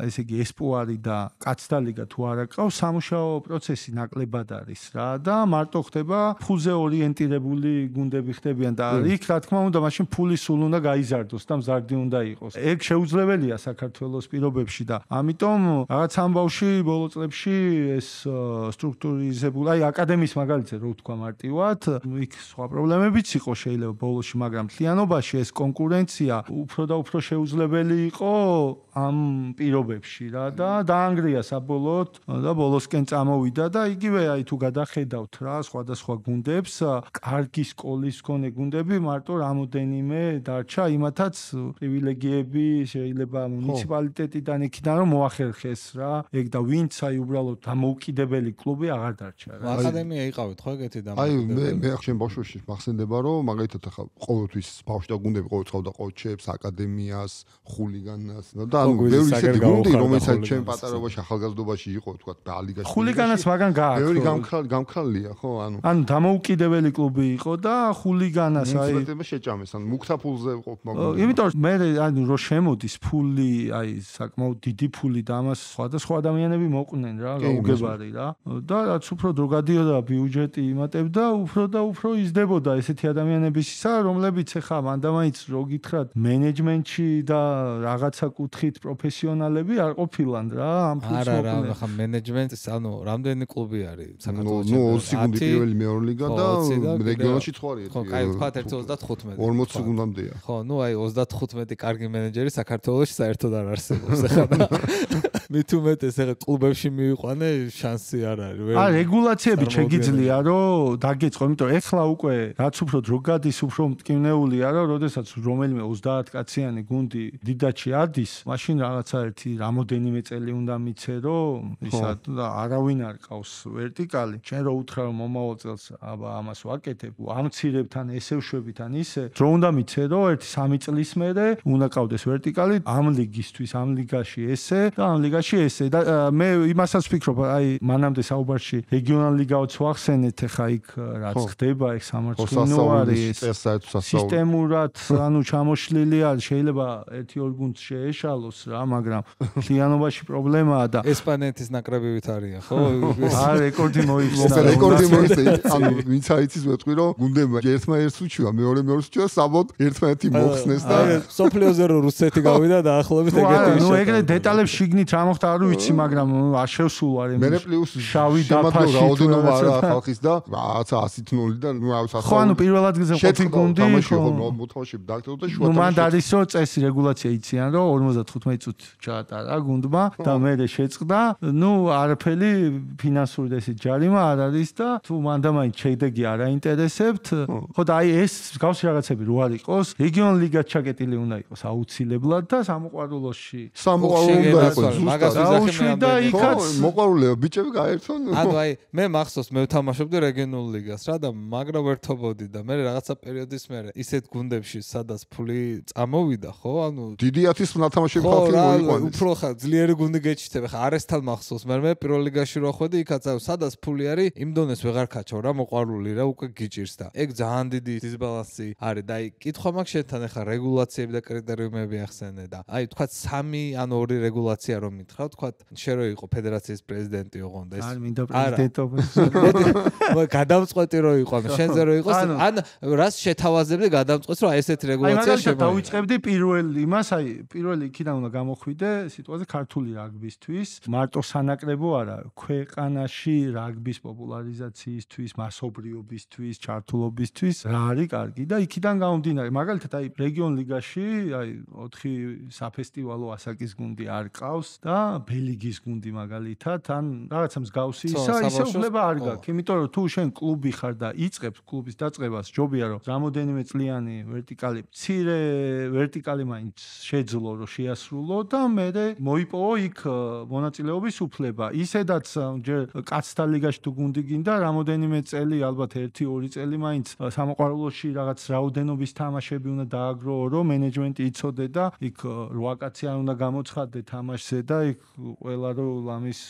ესე იგი ესპუარი და კაცთა ლიგა თუ არ აკავს, სამუშაო პროცესი ნაკლებად არის რა და მარტო ხდება ფულზე ორიენტირებული გუნდები ხდებიან და იქ რა თქმა უნდა მაშინ ფული სულ უნდა გაიზარდოს და მზარდი უნდა იყოს. ეგ შეუძლებელია საქართველოს პირობებში და ამიტომ რაღაც ამბავში ბოლო წლებში ეს სტრუქტურიზებული, აი აკადემიის მაგალითზე რო ვთქვა მარტივად, იქ სხვა პრობლემებიც იყო შეიძლება ბოლოში, მაგრამ მთლიანობაში ეს კონკურენცია უფრო და უფრო შეუძლებელი იყო ამ პირობებში რა და დაანგრია საბოლოოდ და ბოლოსკენ წამოვიდა და იგივე აი თუ გადახედავთ რა სხვადასხვა გუნდებს, კარგი სკოლის მქონე გუნდები მარტო რამოდენიმე დარჩა, იმათაც პრივილეგიები შეიძლება მუნიციპალიტეტიდან იქიდან რომ მოახერხეს რა. ეგ და ვინც აი უბრალოდ დამოუკიდებელი კლუბი აღარ დარჩა რა. აკადემია იყავით ხო ეგეთი და აი მე მე ახშენ ბავშვობაში მახსენდება რომ მაგალითად ახლა ყოველთვის ბავშვი და გუნდები ყოველ წავდა ყოჩებს, აკადემიას, ხულიგანას და ანუ ბევრი ისეთი გუნდი რომელსაც ჩემ პატარობაში ახალგაზრდობაში იყო თქვა ალიგაში. ხულიგანას მაგან გააქვს. ბევრი გამქრალი გამქრალია ხო ანუ. ანუ დამოუკიდებელი კლუბი იყო და ხულიგანას აი მუნიციპალიტეტმა შეჭამეს ანუ მუქთა ფულზე ყოფნა. იმიტომ რომ მე ანუ რო შემოდის ფული, აი საკმაოდ დიდი ფული და ამას სხვადასხვა ადამიანები მოყვნენ რა, გაუგებარი რა. და რაც უფრო დრო გადიოდა ბიუჯეტი იმატებდა, უფრო და უფრო იზრდებოდა ესეთი ადამიანების ისა, რომლებიც ახლა მანდამაინც რო გითხრათ მენეჯმენტში და რაღაცა კუთხით პროფესიონალები არ ყოფილან რა, ამ ფულს არა რა, ახლა მენეჯმენტის ანუ რამდენი კლუბი არის საქართველოს ნუ ოცი გუნდი პირველი მეორე ლიგა და რეგიონალში ცხარი ხო, კაი ვთქვათ ერთი ოცდათხუთმეტი. ორმოცი გუნდამდეა. ხო, ნუ აი ოცდათხუთმეტი კარგი მენეჯერი საქართველოში საერთოდ არ არსებობს ახლა და მით უმეტეს ახლა კლუბებში მივიყვანე შანსი არ არის. აა რეგულაციები შეგიძლია რომ დაგეწყო, იმიტომ რომ ახლა უკვე რაც უფრო დრო გადის, უფრო მტკივნეულია რა, როდესაც რომელიმე ოცდაათ კაციანი გუნდი დიდაჩი ადის, მაშინ რაღაცა ერთი რამოდენიმე წელი უნდა მიცე რომ ისა და არავინ არ ყავს ვერტიკალი. შენ რო უთხრა რომ მომავალ წელს აბა ამას ვაკეთებ, ამცირებთან ესე ვშვებთან ისე, დრო უნდა მიცე რომ ერთი სამი წლის მერე უნდა ყავდეს ვერტიკალი ამ ლიგისთვის, ამ ლიგაში ესე და ამ ლიგაში ესე და მე იმასაც ვფიქრობ, აი მანამდე საუბარში რეგიონალ ლიგაოც ვახსენეთ, ახლა იქ რაც ხდება, ეგ სამართლიანო არის სისტემურად, ანუ ჩამოშლილი არის, შეიძლება ერთი ორ გუნდს შეეშალოს რა, მაგრამ მთლიანობაში პრობლემაა და ესპანეთის ნაკრებივით არიან, ხო? აა რეკორდი მოიხსნა. რეკორდი მოიხსნა. ანუ ვინც აიცის ვეთქვი რომ გუნდებმა ერთმა ერთს უჩივა, მეორე მეორეს უჩივა, საბოლოოდ ერთმანეთი მოხსნეს და სოფლიოზე რო რუსეთი გავიდა და ახლობით ეგეთი ისე. ნუ ეგრე დეტალებს შიგნით რა მოხდა არ ვიცი, მაგრამ არ შევსულ არ მე პლუს შავი დაფაში რაოდენობა არა ხალხის და რაღაცა ასით ნული და ნუ ავს ხო, ანუ პირველ ადგილზე ყოფილი გუნდი ხო მოთამაშეები დაგდო და შუა ნუ მანდ არის რომ წესი რეგულაცია იციან რომ ორმოცდათხუთმეტი წუთი ჩაატარა გუნდმა და მერე შეწყდა, ნუ არაფერი ფინანსური ესეთ ჯარიმა არ არის და თუ მანდამაინც შედეგი არ აინტერესებთ, ხო და აი ეს მსგავსი რაღაცები რო არ იყოს, რეგიონალ ლიგად ჩაკეტილი უნდა იყოს აუცილებლად და სამოყვარულოში. სამოყვარულო უნდა იყოს მაგას ვიზახე და იქაც მოყვარულეა ბიჭები გაერთონ. ანუ აი მე მახსოვს მე ვთამაშობდი რეგიონულ ლიგას რა და მაგრა ვერთობოდი და მე რაღაცა პერიოდის მერე ისეთ გუნდებში სადაც ფული წამოვიდა ხო, ანუ დიდი ათის ნათამაშები ხალხი მოიყვანეს. უფრო ხა ძლიერი გუნდი გეჩიტებ, ხა არესთან მახსოვს მე მე პირველ ლიგაში რო ხვედი იქაც სადაც ფული არის იმ დონეს ვეღარ ქაჩავ რა, მოყვარული რა უკვე გიჭირს და ეგ ძალიან დიდი დისბალანსი არის და აი კითხვა მაქვს შენთან ახლა რეგულაციები და კრიტერიუმები ახსენე და აი თქვა სამი ან ორი რეგულაცია რომ მითხრა, თქვა შენ რო იყო ფედერაციის პრეზიდენტი ოღონდ ეს არ მინდა პრეზიდენტობა. გადამწყვეტი რო იყო, შენზე რო იყოს ან რას შეთავაზებდი გადამწყვეტს რომ აი ესეთი რეგულაცია შემოიღო. აი მაგალითად დავიწყებდი პირველ იმას, აი პირველი იქიდან უნდა გამოხვიდე სიტუაცია ქართული რაგბისთვის, მარტო სანაკრებო არა, ქვეყანაში რაგბის პოპულარიზაციისთვის, მასობრიობისთვის, ჩართულობისთვის რა არის კარგი და იქიდან გამომდინარე. მაგალითად აი რეგიონ ლიგაში აი ოთხი საფესტივალო ასაკის გუნდი არ ყავს და ბელიგიის გუნდი მაგალითად ან რაღაცა მსგავსი ისა ისე უფლება არ გაქვს. იმიტომ რომ თუ შენ კლუბი ხარ და იწყებს კლუბის დაწყებას, ჯობია რომ რამოდენიმე წლიანი ვერტიკალი, მცირე ვერტიკალი მაინც შეძლო რომ შეასრულო დაასრულო და მე მოიპოვა იქ მონაწილეობის უფლება. ისედაც ჯერ კაცთა ლიგაში თუ გუნდი გინდა, რამოდენიმე წელი, ალბათ ერთი ორი წელი მაინც სამოყვარულოში რაღაც რაოდენობის თამაშები უნდა დააგროო, რომ მენეჯმენტი იცოდე და იქ რვა კაცი არ უნდა გამოცხადდე თამაშზე და იქ ყველა რომ ლამის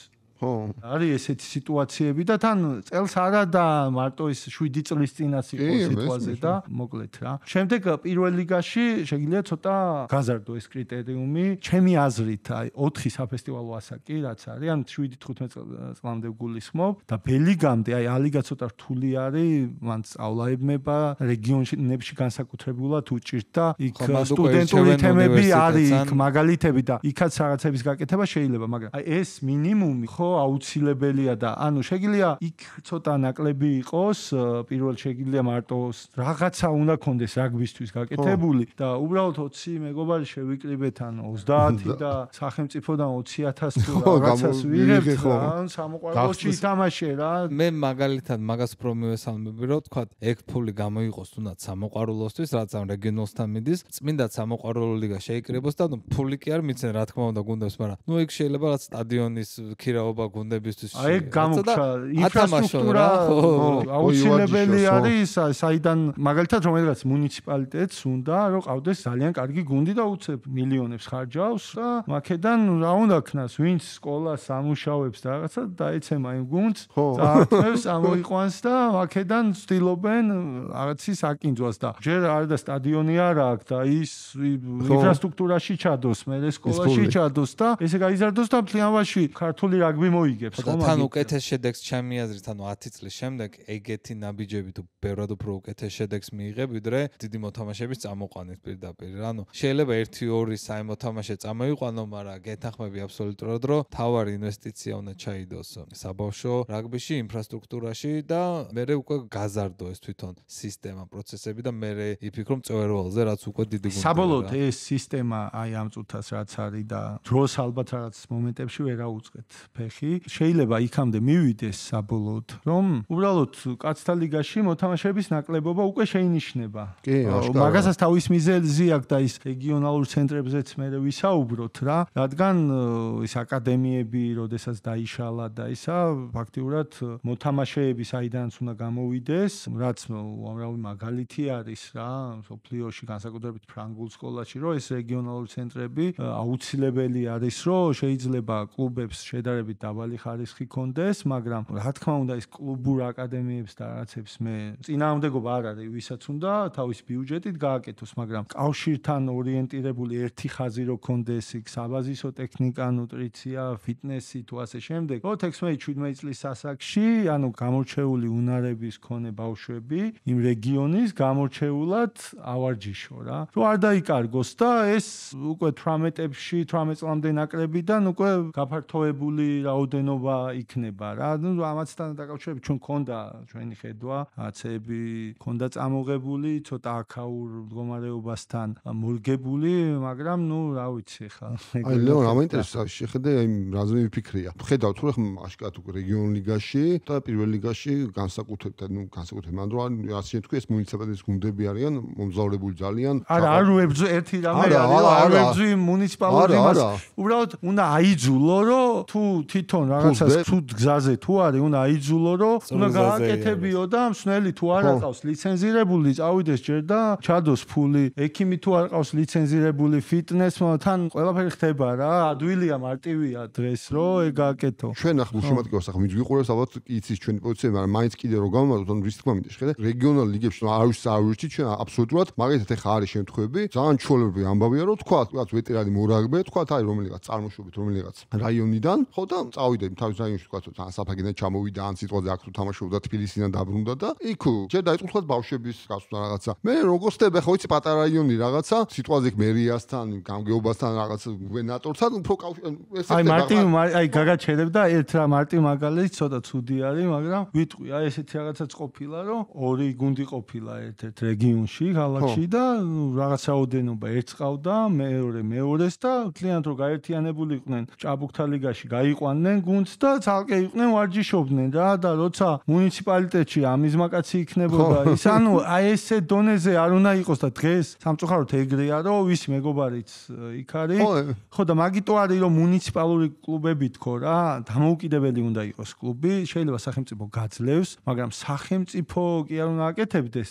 არის ესეთი სიტუაციები და თან წელს არა და მარტო ის შვიდი წლის წინას იყო სიტუაცია და მოკლედ რა. შემდეგ პირველ ლიგაში შეიძლება ცოტა გაზარდო ეს კრიტერიუმი. ჩემი აზრით, აი ოთხი საფესტივალო ასაკი რაც არის, ან შვიდი თხუთმეტ წლამდე გულისხმობ და ბელიგამდე აი ალიგა ცოტა რთული არის, მან სწავლაებმება რეგიონებში განსაკუთრებულად უჭირთ და იქ სტუდენტური თემები არის, იქ მაგალითები და იქაც რაღაცების გაკეთება შეიძლება, მაგრამ აი ეს მინიმუმი ხო აუცილებელია და ანუ შეგიძლია იქ ცოტა ნაკლები იყოს, პირველ შეგიძლია მარტო რაღაცა უნდა კონდეს რაგბისთვის გაკეთებული და უბრალოდ ოცი მეგობარი შევიკრიბეთ ან ოცდაათი და სახელმწიფოდან ოცი ათასი თუ რაღაცას ვიღებთ ან სამოყვარულოში ითამაშე რა. მე მაგალითად მაგას უფრო მივესალმები რომ თქვა ეგ ფული გამოიყოს თუნდაც სამოყვარულოსთვის, რაც ამ რეგიონალთან მიდის, წმინდა სამოყვარულო ლიგა შეიკრიბოს და ფული კი არ მიცენ რა თქმა უნდა გუნდებს, მაგრამ ნუ იქ შეიძლება რაც სტადიონის ქირაობა გუნდებისთვის აი გამოგჩა ინფრასტრუქტურა აუცილებელი არის, საიდან მაგალითად რომელიღაც მუნიციპალიტეტს უნდა რომ ყავდეს ძალიან კარგი გუნდი და უცებ მილიონებს ხარჯავს და მაქედან რა უნდა ქნას, ვინც სკოლას ამუშავებს და რაღაცა დაეცემა იმ გუნდს, წაართმევს ამოიყვანს და მაქედან ცდილობენ რაღაცის აკინძვას და ჯერ არ და სტადიონი არ აქვს და ის ინფრასტრუქტურაში ჩადოს, მე სკოლაში ჩადოს და ესე გაიზარდოს და მთლიანობაში ქართული რაგბი მოიგებს ხო თან უკეთეს შედეგს ჩემი აზრით, ანუ ათი წლის შემდეგ ეგეთი ნაბიჯები თუ ბევრად უფრო უკეთეს შედეგს მიიღებ, ვიდრე დიდი მოთამაშეების წამოყვანით პირდაპირ. ანუ შეიძლება ერთი ორი სამი მოთამაშე წამოიყვანო, მაგრამ გეთანხმები აბსოლუტურად, რომ თავარი ინვესტიცია უნდა ჩაიდოს საბავშვო რაგბიში, ინფრასტრუქტურაში და მერე უკვე გაზარდო ეს თვითონ სისტემა, პროცესები და მერე იფიქრო მწვერვალზე, რაც უკვე დიდი გუნდია. საბოლოოდ ეს სისტემა აი ამ წუთას რაც არის და დროს ალბათ რაღაც მომენტებში ვერ აუწყეთ ფეხი. შეიძლება იქამდე მივიდეს საბოლოოდ, რომ უბრალოდ კაცთა ლიგაში მოთამაშეების ნაკლებობა უკვე შეინიშნება. მაგასაც თავის მიზეზი აქვს და ის რეგიონალურ ცენტრებზეც მე ვისაუბროთ რა, რადგან ის აკადემიები, როდესაც დაიშალა და ისა ფაქტიურად მოთამაშეები საიდანაც უნდა გამოვიდეს, რაც უამრავი მაგალითი არის რა, სოფლიოში განსაკუთრებით ფრანგულ სკოლაში, რომ ეს რეგიონალური ცენტრები აუცილებელი არის, რომ შეიძლება კლუბებს შედარებით დაბალი ხარისხი კონდეს, მაგრამ რა თქმა უნდა ის კლუბურ აკადემიებს და რაღაცებს მე წინააღმდეგობა არ არის, ვისაც უნდა თავის ბიუჯეტით გააკეთოს, მაგრამ კავშირთან ორიენტირებული ერთი ხაზი რო კონდეს, იქ საბაზისო ტექნიკა, ნუტრიცია, ფიტნესი თუ ასე შემდეგ. ოცდაექვსი შვიდმეტი წლის ასაკში, ანუ გამორჩეული უნარების მქონე ბავშვები იმ რეგიონის გამორჩეულად ავარჯიშო რა. რო არ დაიკარგოს და ეს უკვე თვრამეტებში, თვრამეტ წლამდე ნაკლებიდან უკვე გაფართოებული რაოდენობა იქნება რა. ნუ ამათთან დაკავშირებით ჩვენ ქონდა ჩვენი ხედვა, აცები ქონდა წამოღებული, ცოტა აქაურ მდგომარეობასთან მორგებული, მაგრამ ნუ რა ვიცი ხა. აი ლეონ, რა მაინტერესებს შეხედე აი რაზე ვიფიქრია. ხედავ თუ ხომ აშკარად უკვე რეგიონ ლიგაში და პირველ ლიგაში განსაკუთრებით, ნუ განსაკუთრებით მანდ რომ ასე შეთქვი ეს მუნიციპალიტეტის გუნდები არიან მომზაურებული ძალიან. არა, არ ვებძო ერთი რამე არის, არ ვებძო მუნიციპალურ იმას. უბრალოდ უნდა აიძულო, რომ თუ თვითონ რაღაცას თუ გზაზე თუ არის, უნდა აიძულო, რომ უნდა გააკეთებიო და მსნელი თუ არ აყავს ლიცენზირებული, წავიდეს ჯერ და ჩადოს ფული. ექიმი თუ არ ყავს ლიცენზირებული, ფიტნესმა თან ყველაფერი ხდება რა. ადვილია მარტივია დღეს, რომ ეგ გააკეთო. ჩვენ ახლა გუშემატკივარს ახლა ვინც ვიყურებს, ალბათ იცის ჩვენი პოზიცია, მაგრამ მაინც კიდე რო გამომართოთ, ანუ რის თქმა მინდა შეხედე, რეგიონალ ლიგებში არ ვიცი, არ ვიცი ჩვენ აბსოლუტურად, მაგალითად ახლა არის შემთხვევები, ძალიან ჩვეულებრივი ამბავია, რომ თქვა, თქვა ვეტერანი მორაგბე, თქვა აი რომელიღაც წარმოშობით, რომელიღაც რაიონიდან, ხო და წავიდა თავის რაიონში თქვა, თან საფაგენად ჩამოვიდა, ან სიტყვაზე აქ თუ თამაშობდა თბილისიდან დაბრუნდა და იქ ჯერ დაიწყო თქვა ბავშვების გასვლა რაღაცა. მე როგორც ხდება, ხო იცი პატარა რაიონი რაღაცა, სიტყვაზე მერიასთან, გამგეობასთან რაღაცა გუბერნატორთან უფრო ეს აი მარტივ აი გაგაჩერებ და ერთ რა მარტივ მაგალითი ცოტა ცუდი არის, მაგრამ ვიტყვი, აი ესეთი რაღაცაც ყოფილა, რომ ორი გუნდი ყოფილა ერთ-ერთ რეგიონში, ქალაქში და რაღაც რაოდენობა ერთს ყავდა, მეორე მეორეს და მთლიანად რომ გაერთიანებული იყვნენ ჭაბუკთა ლიგაში, გაიყვანენ აკეთებდნენ გუნდს და ცალკე იყვნენ ვარჯიშობდნენ რა და როცა მუნიციპალიტეტში ამიზმაკაცი იქნებოდა ის ანუ აი ესე დონეზე არ უნდა იყოს და დღეს სამწუხაროდ ეგრეა რომ ვის მეგობარიც იქ არის ხო და მაგიტო არის რომ მუნიციპალური კლუბები თქო რა დამოუკიდებელი უნდა იყოს კლუბი შეიძლება სახელმწიფო გაძლევს მაგრამ სახელმწიფო კი არ უნდა აკეთებდეს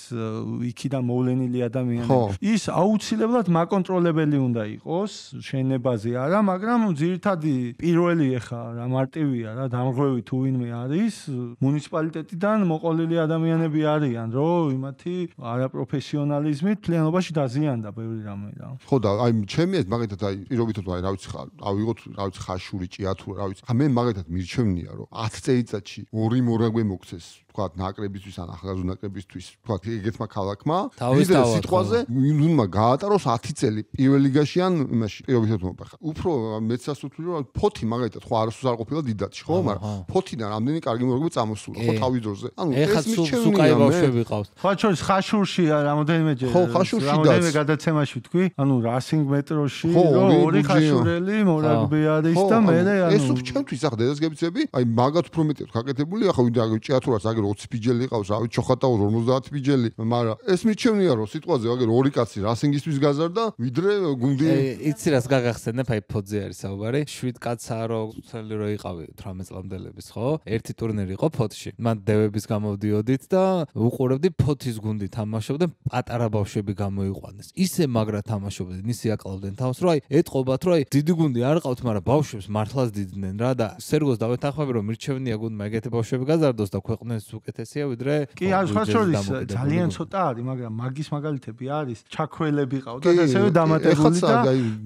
იქიდან მოვლენილი ადამიანები ის აუცილებლად მაკონტროლებელი უნდა იყოს შენობაზე არა მაგრამ ძირითადი პირველი ეხა რა მარტივია რა დამრღვევი თუ ვინმე არის მუნიციპალიტეტიდან მოყოლილი ადამიანები არიან რომ იმათი არაპროფესიონალიზმით მთლიანობაში დაზიანდა ბევრი რამე რა ხო და აი ჩემი ეს მაგათაც აი პირობითად აი რა ვიცი ხა ავიღოთ რა ვიცი ხაშური ჭიათურა რა ვიცი მე მაგათაც მირჩევნია რომ ათი წელიწადში ორი მორაგვე მოგცეს თქვათ ნაკრებისთვის ან ახალგაზრდა ნაკრებისთვის თქვათ ეგეთმა ქალაქმა ვიდრე სიტყვაზე უნდა გაატაროს ათი წელი პირველ ლიგაში ან იმაში პირობითად მომბახა უფრო მეც ასუთული რომ ფოთი მაგალითად ხო არასდროს არ ყოფილა დიდათში ხო მაგრამ ფოთიდან რამდენი კარგი მორაგები წამოსულა ხო თავის დროზე ანუ ეს მირჩევნია ბავშვები ყავს ხო ჩვენს ხაშურში რამოდენიმეჯერ ხო ხაშურში რამოდენიმე გადაცემაში თქვი ანუ რასინგ მეტროში რომ ორი ხაშურელი მორაგბე არის და მე ანუ ეს უფრო ჩემთვის ახლა დედასგებიცები აი მაგათ უფრო მეტი გაკეთებული ახლა ვინდა ჭიათურას აგერ ოცი ბიჯელი ყავს, რავი, ჩოხატაოს ორმოცდაათი ბიჯელი, მაგრამ ეს მირჩევნია რომ სიტყვაზე აგერ ორი კაცი რასინგისთვის გაზარდა, ვიდრე გუნდი. იცი რას გაგახსენებ, აი ფოძე არის საუბარი, შვიდ კაცაა რომ წელი რო იყავი თვრამეტ წლამდელების, ხო? ერთი ტურნირი იყო ფოთში. მან დევების გამოვდიოდით და უყურებდი ფოთის გუნდი თამაშობდა, პატარა ბავშვები გამოიყვანეს. ისე მაგრა თამაშობდნენ, ისე აკლავდნენ თავს, რომ აი ეტყობათ, რომ აი დიდი გუნდი არ ყავთ, მაგრამ ბავშვებს მართლაც დიდდნენ რა და სერგოს დავეთანხმები რომ მირჩევნია გუნდმა ეგეთი ბავშვები გაზარდოს და ქვეყნის უკეთესია ვიდრე კი არ სხვა შორის ძალიან ცოტა არის მაგრამ მაგის მაგალითები არის ჩაქველები ყავთ და ასევე დამატებული და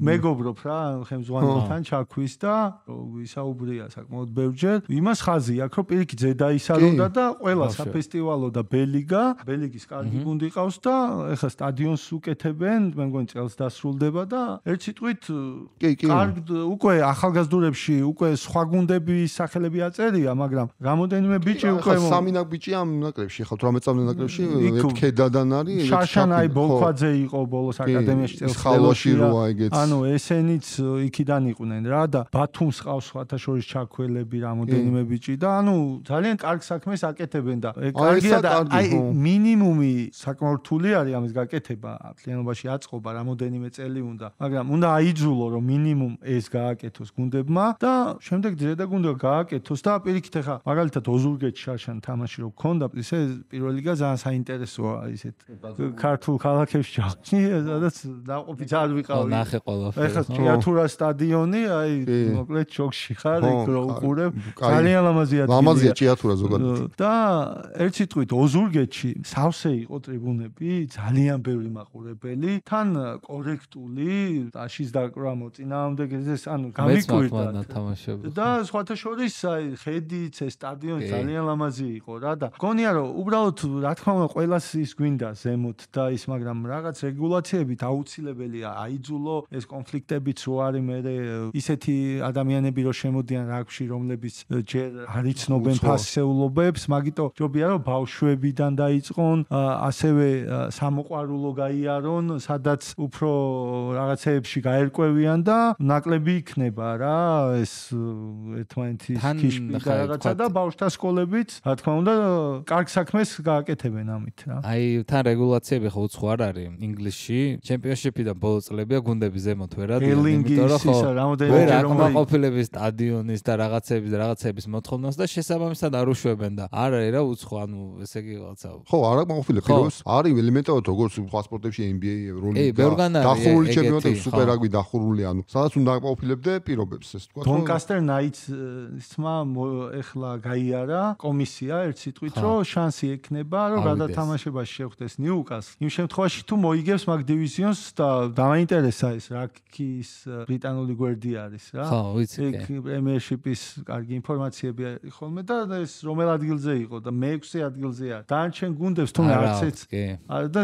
მეგობრობ რა ხემზღვანელთან ჩაქვის და ვისაუბრია საკმაოდ ბევრჯერ იმას ხაზი აქვს რომ პირიქით ზედაისარონდა და ყველა საფესტივალო და ბელიგა ბელიგის კარგი გუნდი ყავს და ეხლა სტადიონს უკეთებენ მე მგონი წელს დასრულდება და ერთ სიტყვით კარგ უკვე ახალგაზრდურებში უკვე სხვა გუნდების სახელები აწერია მაგრამ რამოდენიმე ბიჭი უკვე სამი ნაკბიჭი ამ ნაკრებში ხო თვრამეტ წლამდელ ნაკრებში ქედადან არის შაშანაი ბოლქვაძე იყო ბოლოს აკადემიაში წელს ხალოში როა ეგეც ანუ ესენიც იქიდან იყვნენ რა და ბათუმს ყავს სხვათა შორის ჩაქველები რამოდენიმე ბიჭი და ანუ ძალიან კარგ საქმეს აკეთებენ და კარგია და აი მინიმუმი საკმაოდ რთული არის ამის გაკეთება მთლიანობაში აწყობა რამოდენიმე წელი უნდა მაგრამ უნდა აიძულო რომ მინიმუმ ეს გააკეთოს გუნდებმა და შემდეგ ძირედა გუნდა გააკეთოს და პირიქით ახლა მაგალითად ოზურგეთში შაშან თამაში რო გქონდა ისე პირველ ლიგა ძალიან საინტერესოა ისეთ ქართულ ქალაქებში ჯახში სადაც დაყოფით არ ვიყავი ნახე ყველაფერი ეხლა ჭიათურა სტადიონი აი მოკლედ შოქში ხარ იქ რო უყურებ ძალიან ლამაზია ლამაზია ჭიათურა ზოგადად და ერთ სიტყვით ოზურგეთში სავსე იყო ტრიბუნები ძალიან ბევრი მაყურებელი თან კორექტული აშის დაკვრა მოწინააღმდეგე ეს ანუ გამიკვირდა და სხვათა შორის აი ხედიც ეს სტადიონი ძალიან ლამაზი იყო რა და გონია რომ უბრალოდ რა თქმა უნდა ყველას ის გვინდა ზემოთ და ის მაგრამ რაღაც რეგულაციებით აუცილებელია აიძულო ეს კონფლიქტებიც რო არის მე ისეთი ადამიანები რო შემოდიან რაგბში რომლებიც ჯერ არ იცნობენ ფასეულობებს მაგიტო ჯობია რომ ბავშვებიდან დაიწყონ ასევე სამოყვარულო გაიარონ სადაც უფრო რაღაცეებში გაერკვევიან და ნაკლები იქნება რა ეს ერთმანეთის ქიშპი და რაღაცა და ბავშვთა სკოლებიც რა თქმა უნდა კარგ საქმეს გააკეთებენ ამით რა. აი თან რეგულაციები ხო უცხო არ არის ინგლისში ჩემპიონშიპიდან ბოლო წლებია გუნდები ზემოთ ვერ ადიან იმიტომ რომ ხო ვერ აკმაყოფილების სტადიონის და რაღაცების და რაღაცების მოთხოვნას და შესაბამისად არ უშვებენ და არ არის რა უცხო ანუ ესე იგი რაღაცა ხო არ აკმაყოფილებს არის ელემენტარად როგორც სხვა სპორტებში N B A ევროლიგა დახურული ჩემპიონატები სუპერ რაგბი დახურული ანუ სადაც უნდა აკმაყოფილებდე პირობებს ეს თქვა Doncaster Knights-მა ეხლა გაიარა კომისია ერთ სიტყვით რომ შანსი ექნება რომ გადათამაშებაში შეხვდეს ნიუკასლს იმ შემთხვევაში თუ მოიგებს მაგ დივიზიონს და დამაინტერესა ეს რაკის ბრიტანული გვერდი არის რა ხო ვიცი ეგ პრემიერშიპის კარგი ინფორმაციები ხოლმე და ეს რომელ ადგილზე იყო და მეექვსე ადგილზეა დანარჩენ გუნდებს თუნდაც არცეც არა და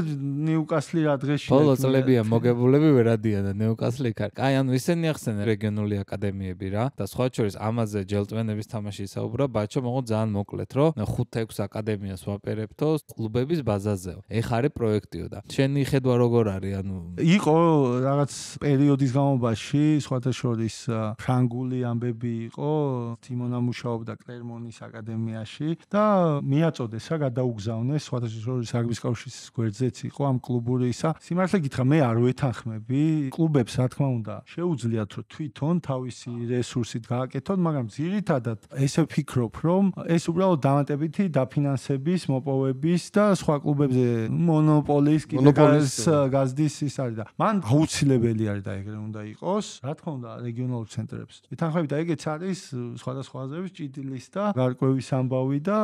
ნიუკასლი რა დღეში ბოლო წლებია მოგებულები ვერ ადიან და ნიუკასლი იქ აი ანუ ისინი ახსენენ რეგიონული აკადემიები რა და სხვა შორის ამაზე ჯელტვენების თამაში ისაუბრა ბაჩო მოგო ძალიან მოკლედ რომ ხუთ-ექვს აკადემიას ვაპირებთო კლუბების ბაზაზეო. ეხ არის პროექტიო და შენი ხედვა როგორ არის? ანუ იყო რაღაც პერიოდის განმავლობაში სხვათა შორის ფრანგული ამბები იყო, ტიმონა მუშაობდა კლერმონის აკადემიაში და მიაწოდეს რა გადაუგზავნეს სხვათა შორის რაგბის კავშირის გვერდზეც იყო ამ კლუბური ისა. სიმართლე გითხრა, მე არ ვეთანხმები კლუბებს, რა თქმა უნდა, შეუძლიათ რომ თვითონ თავისი რესურსით გააკეთონ, მაგრამ ძირითადად ესე ვფიქრობ, რომ ეს უბრალოდ დამატებითი დაფინანსების, მოპოვების და სხვა კლუბებზე მონოპოლიის მონოპოლიის გაზდის ის არის და მან აუცილებელი არის და ეგრე უნდა იყოს. რა თქმა უნდა, რეგიონალურ ცენტრებს. ეთანხმები და ეგეც არის სხვადასხვა აზრების ჭიდილის და გარკვევის ამბავი და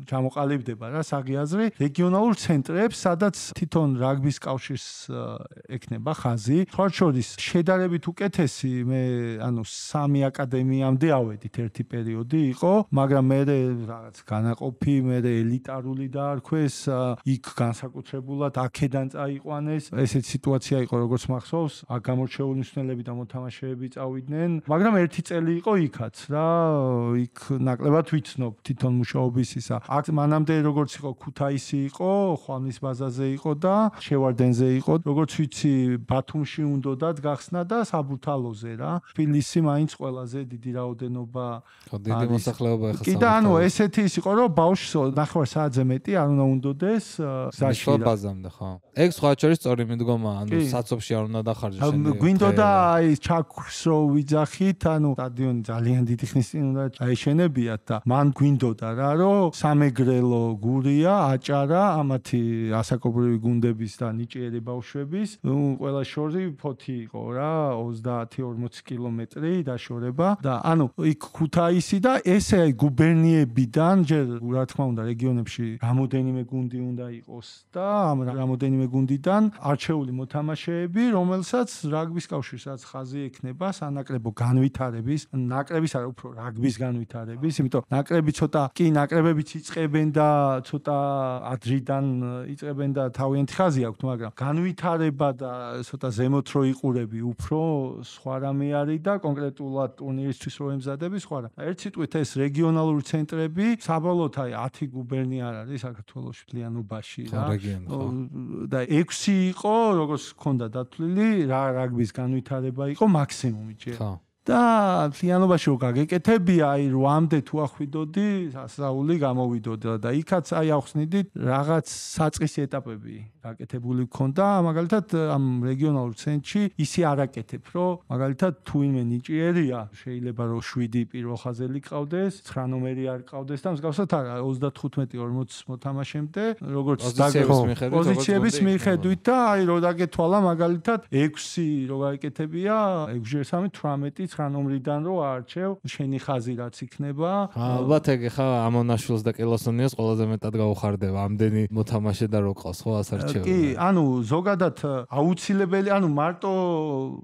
ჩამოყალიბდება რა საღიაზრი რეგიონალურ ცენტრებს, სადაც თვითონ რაგბის კავშირს ექნება ხაზი. სხვა შორის შედარებით უკეთესი მე ანუ სამი აკადემიამდე ავედით ერთი პერიოდი იყო, მაგრამ მე რაღაც განაყოფი, მე ელიტარული დაარქვეს, იქ განსაკუთრებულად აქედან წაიყვანეს. ესეთ სიტუაცია იყო, როგორც მახსოვს, აქ გამორჩეული მსმენელები და მოთამაშეები წავიდნენ, მაგრამ ერთი წელი იყო იქაც რა, იქ ნაკლებად ვიცნობ თვითონ მუშაობის ისა. აქ მანამდე როგორც იყო ქუთაისი იყო, ხვამლის ბაზაზე იყო და შევარდენზე იყო, როგორც ვიცი ბათუმში უნდათ გახსნა და საბურთალოზე რა. თბილისი მაინც ყველაზე დიდი რაოდენობა დიდი მოსახლეობა ეხლა. კი და ანუ ესეთი ის იყო, რომ ბავშვს ნახევარ საათზე მეტი არ უნდა უნდოდეს გზაში რა. ბაზამდე ხო. ეგ სხვა შორის სწორი მიდგომა, ანუ საცობში არ უნდა დახარჯო შენი. გვინდოდა აი ჩაქს რო ვიძახით, ანუ სტადიონი ძალიან დიდი ხნის წინ უნდა აეშენებიათ და მან გვინდოდა რა, რომ სამეგრელო გურია, აჭარა, ამათი ასაკობრივი გუნდების და ნიჭიერი ბავშვების, ნუ ყველა შორი ფოთი იყო რა, ოცდაათი ორმოცი კილომეტრი დაშორება და ანუ იქ ქუთაისი და ესე აი გუბერნიებიდან ჯერ რა თქმა უნდა რეგიონებში რამოდენიმე გუნდი უნდა იყოს და ამ რამოდენიმე გუნდიდან არჩეული მოთამაშეები, რომელსაც რაგბის კავშირსაც ხაზი ექნება სანაკრებო განვითარების, ნაკრების არა უფრო რაგბის განვითარების, იმიტომ ნაკრები ცოტა კი ნაკრებებიც იწყებენ და ცოტა ადრიდან იწყებენ და თავიანთი ხაზი აქვთ, მაგრამ განვითარება და ცოტა ზემოთ რო იყურები უფრო სხვა რამე არის და კონკრეტულად ტურნირისთვის რო ემზადები სხვა რა. ერთ სიტყვით ეს რეგიონალური ცენტრები საბოლოოდ აი ათი გუბერნია არ არის საქართველოს მთლიანობაში რა. და ექვსი იყო, როგორც ჰქონდა დათვლილი, რა რაგბის განვითარება იყო მაქსიმუმი ჯერ. და მთლიანობაში რო გაგეკეთებია, აი რვამდე თუ ახვიდოდი, ასწაული გამოვიდოდა და იქაც აი ახსნიდით რაღაც საწყისი ეტაპები გაკეთებული გქონდა, მაგალითად ამ რეგიონალურ ცენტრში ისი არაკეთებ, რომ მაგალითად თუ ვინმე ნიჭიერია, შეიძლება რომ შვიდი პირველ ხაზელი ყავდეს, ცხრა ნომერი არ ყავდეს და მსგავსად არა ოცდათხუთმეტი ორმოც მოთამაშემდე, როგორც პოზიციების მიხედვით და აი რო დაგეთვალა მაგალითად ექვსი რო გაეკეთებია, ექვსი სამი თვრამეტი ცხრა ნომრიდან რო აარჩევ, შენი ხაზი რაც იქნება. ალბათ ეგ ხა ამონაშვილს და კელოსონიას ყველაზე მეტად გაუხარდება ამდენი მოთამაშე და რო ყავს ხო ასარჩევ. კი, ანუ ზოგადად აუცილებელი, ანუ მარტო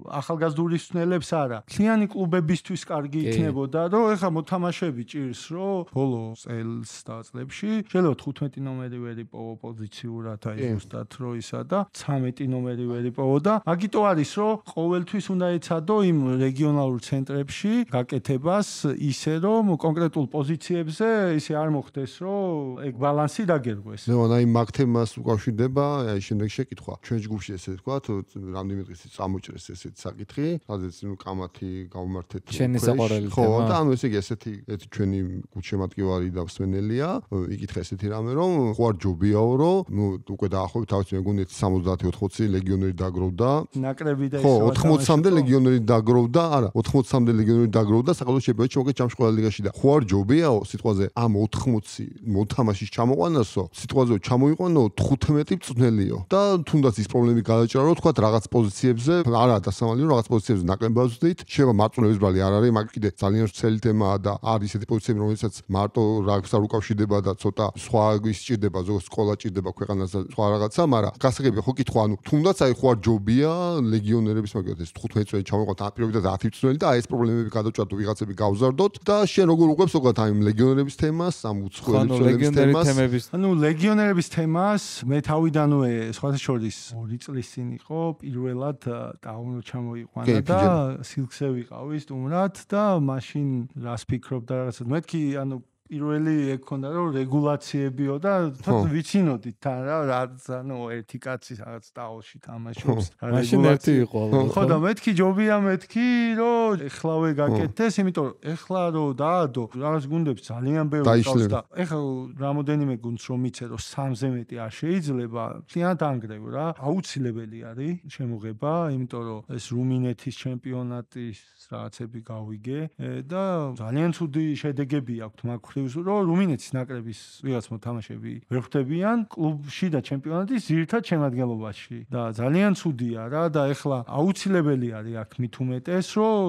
ახალგაზრდული მსმენელებს არა. მთლიანი კლუბებისთვის კარგი იქნებოდა, რომ ეხა მოთამაშეები ჭირს, რომ ბოლო წელს და წლებში შეიძლება თხუთმეტი ნომერი ვერ იპოვო პოზიციურად, აი ზუსტად რო ისა და ცამეტი ნომერი ვერ იპოვო და მაგიტო არის, რომ ყოველთვის უნდა ეცადო იმ რეგიონალურ ცენტრებში გაკეთებას ისე, რომ კონკრეტულ პოზიციებზე ისე არ მოხდეს, რომ ეგ ბალანსი დაგერგვეს. ნუ აი მაგ თემას უკავშირდება აი შემდეგ შეკითხვა. ჩვენ ჯგუფში ესე ვთქვათ, რამდენიმე დღის წინ წამოჭრეს ესეთი საკითხი, სადაც ნუ კამათი გავმართეთ. შენი საყვარელი თემა. ხო, და ანუ ესე იგი ესეთი ერთი ჩვენი გულშემატკივარი და მსმენელია, იკითხა ესეთი რამე, რომ ხო არ ჯობიაო, რომ ნუ უკვე დაახლოებით თავის მეგონეთ სამოცდაათი ოთხმოცი ლეგიონერი დაგროვდა. ნაკრები და ხო, ოთხმოცამდე ლეგიონერი დაგროვდა, არა, ოთხმოცამდე ლეგიონერი დაგროვდა საქართველოს ჩემპიონატში, მოგეთ ჩამში ყველა ლიგაში და ხო არ ჯობიაო სიტყვაზე ამ ოთხმოცი მოთამაშის ჩამოყვანასო, სიტყვაზე ჩამოიყვანო თხუთმეტი მწვრთნელიო და თუნდაც ის პრობლემები გადაჭრა, რომ თქვა რაღაც პოზიციებზე, არა დასამალი, რომ რაღაც პოზიციებზე ნაკლებად ვზდით, შეიძლება მარწუნების ბრალი არ არის, მაგრამ კიდე ძალიან ვრცელი თემაა და არის ესეთი პოზიციები, რომელსაც მარტო რაგბს არ უკავშირდება და ცოტა სხვა ის ჭირდება, ზოგადად სკოლა ჭირდება ქვეყანას და სხვა რაღაცა, მაგრამ გასაგებია ხო კითხვა, ანუ თუნდაც აი ხო არ ჯობია ლეგიონერების მაგალითად ეს თხუთმეტი წელი ჩამოიყვანოთ აპირობითად ათი მწვრთნელი და აი ეს პრობლემები გადაჭრათ ვიღაცები გავზარდოთ და შენ როგორ უყვებს ზოგადად აი ლეგიონერების თემას, ამ უცხოელი მწვრთნელების თემას. ანუ ლეგიონერების თემას მე თავიდანვე სხვათა შორის ორი წლის წინ იყო პირველად დაუნლოდ ჩამოიყვანა და სილქზე ვიყავი სტუმრად და მაშინ რას ფიქრობდა რაღაცა მეთქი ანუ პირველი ეგ ქონდა რომ რეგულაციებიო და თქო ვიცინოდით თან რა რაც ანუ ერთი კაცი რაღაც ტაოში თამაშობს მაშინ ერთი იყო ხო და მეთქი ჯობია მეთქი რომ ეხლავე გაკეთდეს იმიტომ რომ ეხლა რომ დაადო რაღაც გუნდებს ძალიან ბევრი ყავს და ეხლა რამოდენიმე გუნდს რომ მიცე რომ სამზე მეტი არ შეიძლება ძალიან ანგრევ რა აუცილებელი არის შემოღება იმიტომ რომ ეს რუმინეთის ჩემპიონატის რაღაცები გავიგე და ძალიან ცუდი შედეგები აქვთ მაგ ხრივს რომ რუმინეთის ნაკრების ვიღაც მოთამაშეები ვერ ხვდებიან კლუბში და ჩემპიონატის ძირითად შემადგენლობაში და ძალიან ცუდია რა და ეხლა აუცილებელი არის აქ მით უმეტეს რომ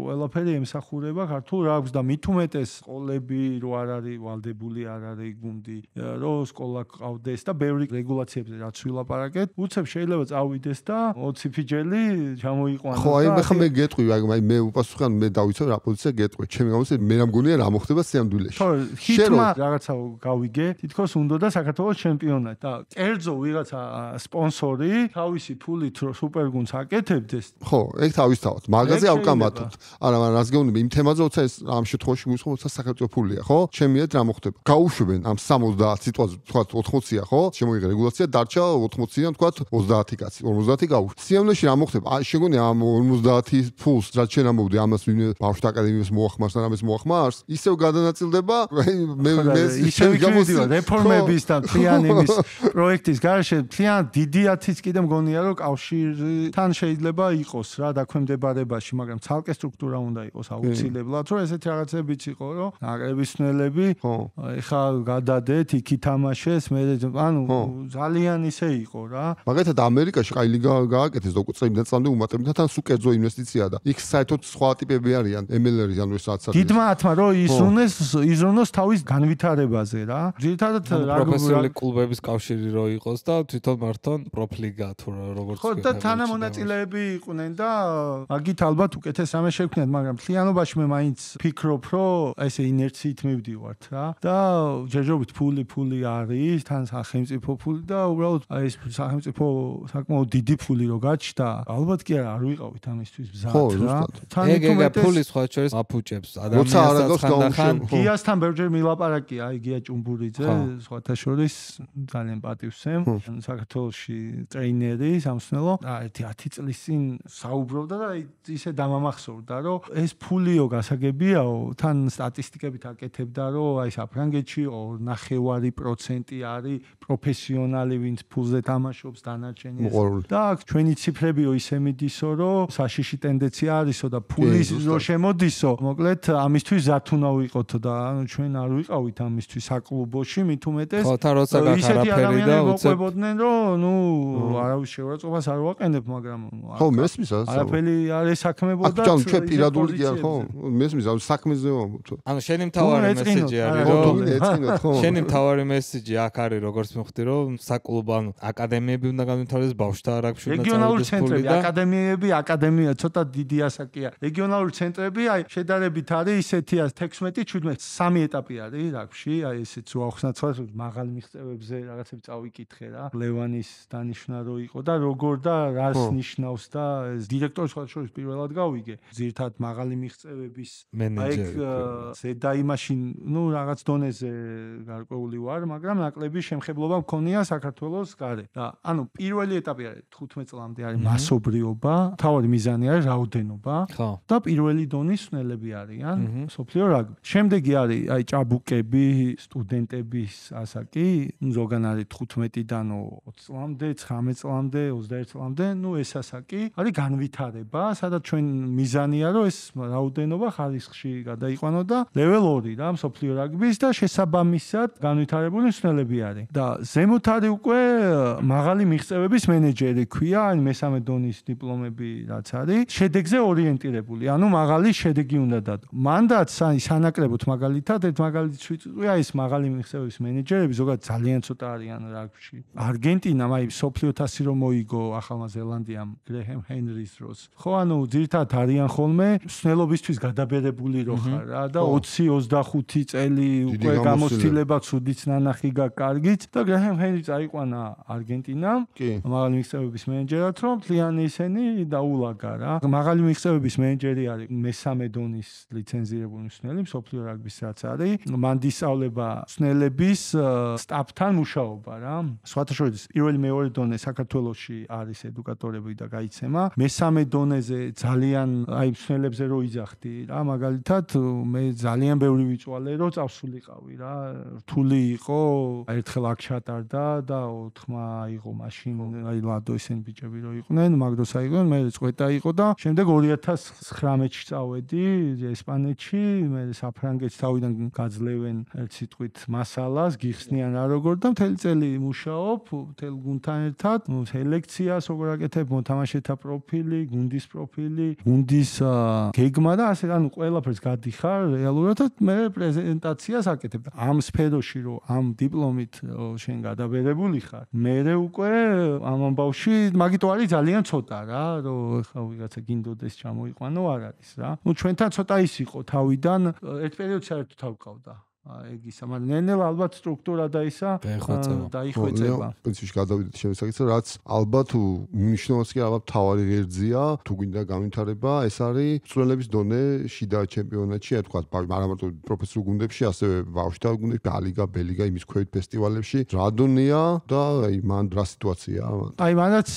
ყველაფერი ემსახურება ქართულ რაგბს და მით უმეტეს სკოლები რო არ არის ვალდებული არ არის გუნდი რომ სკოლა ყავდეს და ბევრი რეგულაციებზე რაც ვილაპარაკეთ უცებ შეიძლება წავიდეს და ოცი ფიჯელი ჩამოიყვანოს ხო აი მე მე გეტყვი აი მე უპასუხან მე დავიცავ რა პოზიცია გეტყვი ჩემი გამოსე მე რა მგონია რა მოხდება სიამდვილეში ხო ჰიტმა რაღაცა გავიგე თითქოს უნდა და საქართველოს ჩემპიონატი და კერძო ვიღაცა სპონსორი თავისი ფულით რო სუპერგუნდს აკეთებდეს ხო ეგ თავისთავად მაგაზე ავკამათოთ არა მაგრამ რას გეუბნები იმ თემაზე როცა ეს ამ შემთხვევაში გულისხმობ როცა საქართველოს ფულია ხო ჩემიეთ რა მოხდება გაუშვებენ ამ სამოცდაათ სიტუაციას თქვა ოთხმოცია ხო შემოიღე რეგულაცია დარჩა ოთხმოციდან თქვა ოცდაათი კაცი ორმოცდაათი გაუშვ სიამოვნეში რა მოხდება შეგონია ამ ორმოცდაათი ფულს რაც შენ ამბობდი ამას ვინმე ბავშვთა აკადემიას მოახმარს და ამას მოახმარს ისევ გადანაწილდება მე მე ისევ გამოსდიო რეფორმების და ფლიანების პროექტის გარშე ფლიან დიდი ათიც კიდე მგონია რომ კავშირთან შეიძლება იყოს რა დაქვემდებარებაში მაგრამ ცალკე სტრუქტურა უნდა იყოს აუცილებლად რომ ესეთი რაღაცებიც იყო რომ ნაკრების ნელები ეხა გადადეთ იქ ითამაშეს მე ანუ ძალიან ისე იყო რა მაგალითად ამერიკაში კაი ლიგა გააკეთეს და უკვე წლიდან წამდე უმატებდა თან სულ კერძო ინვესტიციაა და იქ საერთოდ სხვა ტიპები არიან ემ ელ ერი ანუ ეს რაც არის დიდმა ათმა რომ იზრუნეს იზრუნოს თავის განვითარებაზე რა ძირითადად პროფესიონალი კლუბების კავშირი რო იყოს და თვითონ მართონ პროფლიგა თუ როგორც ხო და თანამონაწილეები იყვნენ და აგით ალბათ უკეთეს რამე შევქნიათ მაგრამ ფლიანობაში მე მაინც ფიქრობ რომ ესე ინერციით მივდივართ რა და ჯერჯერობით ფული ფული არის თან სახელმწიფო ფული და უბრალოდ აი ეს სახელმწიფო საკმაოდ დიდი ფული რო გაჩნდა ალბათ კი არ ვიყავით ამისთვის ბზად რა თან ეგ ფული სხვა შორის აფუჭებს ადამიანსაც ხანდახან გიასთან ბევრჯერ მილაპარაკია აი გია ჭუმბურიძე სხვათა შორის ძალიან პატივსემ საქართველოში ტრეინერი სამსნელო ერთი ათი წლის წინ საუბრობდა და ისე დამამახსოვრდა რომ ეს ფულიო გასაგებიაო თან სტატისტიკებით აკეთებდა რომ აი საფრანგეთში ნახევარი პროცენტი არის პროფესიონალი ვინც ფულზე თამაშობს დანარჩენი და ჩვენი ციფრებიო ისე მიდისო რომ საშიში ტენდენცია არისო და ფულის რო შემოდისო მოკლედ ამისთვის ზათ უნდა ვიყოთო და ანუ ჩვენ არ ვიყავით ამისთვის საკლუბოში მით უმეტეს ხო თან როცა გახარაფერი და უწევდნენ რომ ნუ არავის შეურაცხყოფას არ ვაყენებ მაგრამ ხო მესმის არაფერი არ ესაქმებოდა აქ ჩვენ პირადული კი არ ხო მესმის ამ საქმეზე ვამბობ ანუ შენი მთავარი მესეჯი არის რომ შენი მთავარი მესეჯი აქ არის როგორც მივხვდი რომ საკლუბო ანუ აკადემიები უნდა განვითარდეს ბავშვთა რაგბში უნდა რეგიონალური ცენტრები აკადემიები აკადემია ცოტა დიდი ასაკია რეგიონალური ცენტრები აი შედარებით არის ისეთია თექვსმეტი შვიდმეტი სამი ეტაპი არის რაგბში აი ესეც რო ახსნათ მაღალ მიღწევებზე რაღაცები წავიკითხე რა ლევანის დანიშნა რო იყო და როგორ და რას ნიშნავს და ეს დირექტორის ხალხშორის პირველად გავიგე ძირთად მაღალი მიღწევების მენეჯერი ზედა იმაში ნუ რაღაც დონეზე გარკვეული ვარ მაგრამ ნაკლები შემხებლობა მქონია საქართველოს გარეთ და ანუ პირველი ეტაპი არის თხუთმეტ წლამდე არის მასობრიობა თავი მიზანი არის რაოდენობა და პირველი დონის სნელები არიან სოფლიო რაგბი შემდეგი არის აი ჭაბუკები სტუდენტების ასაკი ზოგან არის თხუთმეტიდან ოცი წლამდე ცხრამეტ წლამდე ოცდაერთ წლამდე ნუ ეს ასაკი არის განვითარება სადაც ჩვენ მიზანია რომ ეს რაოდენობა ხარისხში გადაიყვანო და level ორი რა სოფლიო რაგბის და შესაბამისად განვითარებული სნელები არის და ზემოთ არის უკვე მაღალი მიღწევების მენეჯერი ქვია ან მესამე დონის დიპლომები რაც არის შედეგზე ორიენტირებული ანუ მაღალი შედეგი უნდა დადო მანდაც სანაკრებოთ მაგალითად ერთ მაგალითს ვიწვია ეს მაღალი მიღწევების მენეჯერები ზოგადად ძალიან ცოტა არიან რაგბში არგენტინამ აი სოფლიო თასი რომ მოიგო ახალმა ზელანდიამ გრეჰემ ჰენრის დროს ხო ანუ ძირითადად არიან ხოლმე სნელობისთვის გადაბერებული რო ხარ რა და ოცი ოცდახუთი წელი უკვე გამოცდილება ცუდიც ნანახი გაკარგით და გრეჰემ ჰენრი წაიყვანა არგენტინამ მაღალი მიღწევების მენეჯერად რომ მთლიანი ისინი დაულაგა რა მაღალი მიღწევების მენეჯერი არის მესამე დონის ლიცენზირებული მსნელი მსოფლიო რაგბის რაც არის. მან დისწავლება მსნელების სტაფთან მუშაობა რა. სხვათა შორის პირველი მეორე დონე საქართველოში არის ედუკატორები და გაიცემა. მესამე დონეზე ძალიან აი მსნელებზე რო იძახდი რა, მაგალითად მე ძალიან ბევრი ვიწვალე რო წავსულიყავი რა. რთული იყო, ერთხელ აქ ჩატარდა და ოთხმა აიღო მაშინ აი ლადო ისინი ბიჭები რო იყვნენ, მაგდროს აიღო, მე წვეტა იყო და შემდეგ ორი ათას ცხრამეტში წავედი ესპანეთში, მე საფრანგეთს თავიდან გაძლევენ ერთ სიტყვით მასალას, გიხსნიან რა როგორ და მთელი წელი მუშაობ, მთელ გუნდთან ერთად, სელექციას როგორ აკეთებ, მოთამაშეთა პროფილი, გუნდის პროფილი, გუნდის გეგმა და ასე ანუ ყველაფერს გადიხარ რეალურად მე პრეზენტაციას აკეთებ. ამ სფეროში რო ამ დიპლომით შენ გადაბერებული ხარ, მე უკვე ამ ამბავში მაგიტო არის ძალიან ცოტა რა, რომ ხა ვიღაცა გინდოდეს ჩამოიყვანო არ არის რა. ნუ ჩვენთან ცოტა ის იყო თავიდან ერთ პერიოდში საერთოდ თავკავდა. ეგ ისა, მაგრამ ნელ-ნელა ალბათ სტრუქტურა და ისა დაიხვეწება. პრინციპში გადავიდეთ შემოსაკითხზე, რაც ალბათ მნიშვნელოვანი კი ალბათ თავარი ღერძია, თუ გინდა განვითარება, ეს არის მსვლელების დონე შიდა ჩემპიონატში, აი თქვა, არა მარტო პროფესიულ გუნდებში, ასევე ბავშვთა გუნდებში, ალიგა, ბელიგა, იმის ქვევით ფესტივალებში, რა დონეა და აი მან რა სიტუაციაა? აი მანაც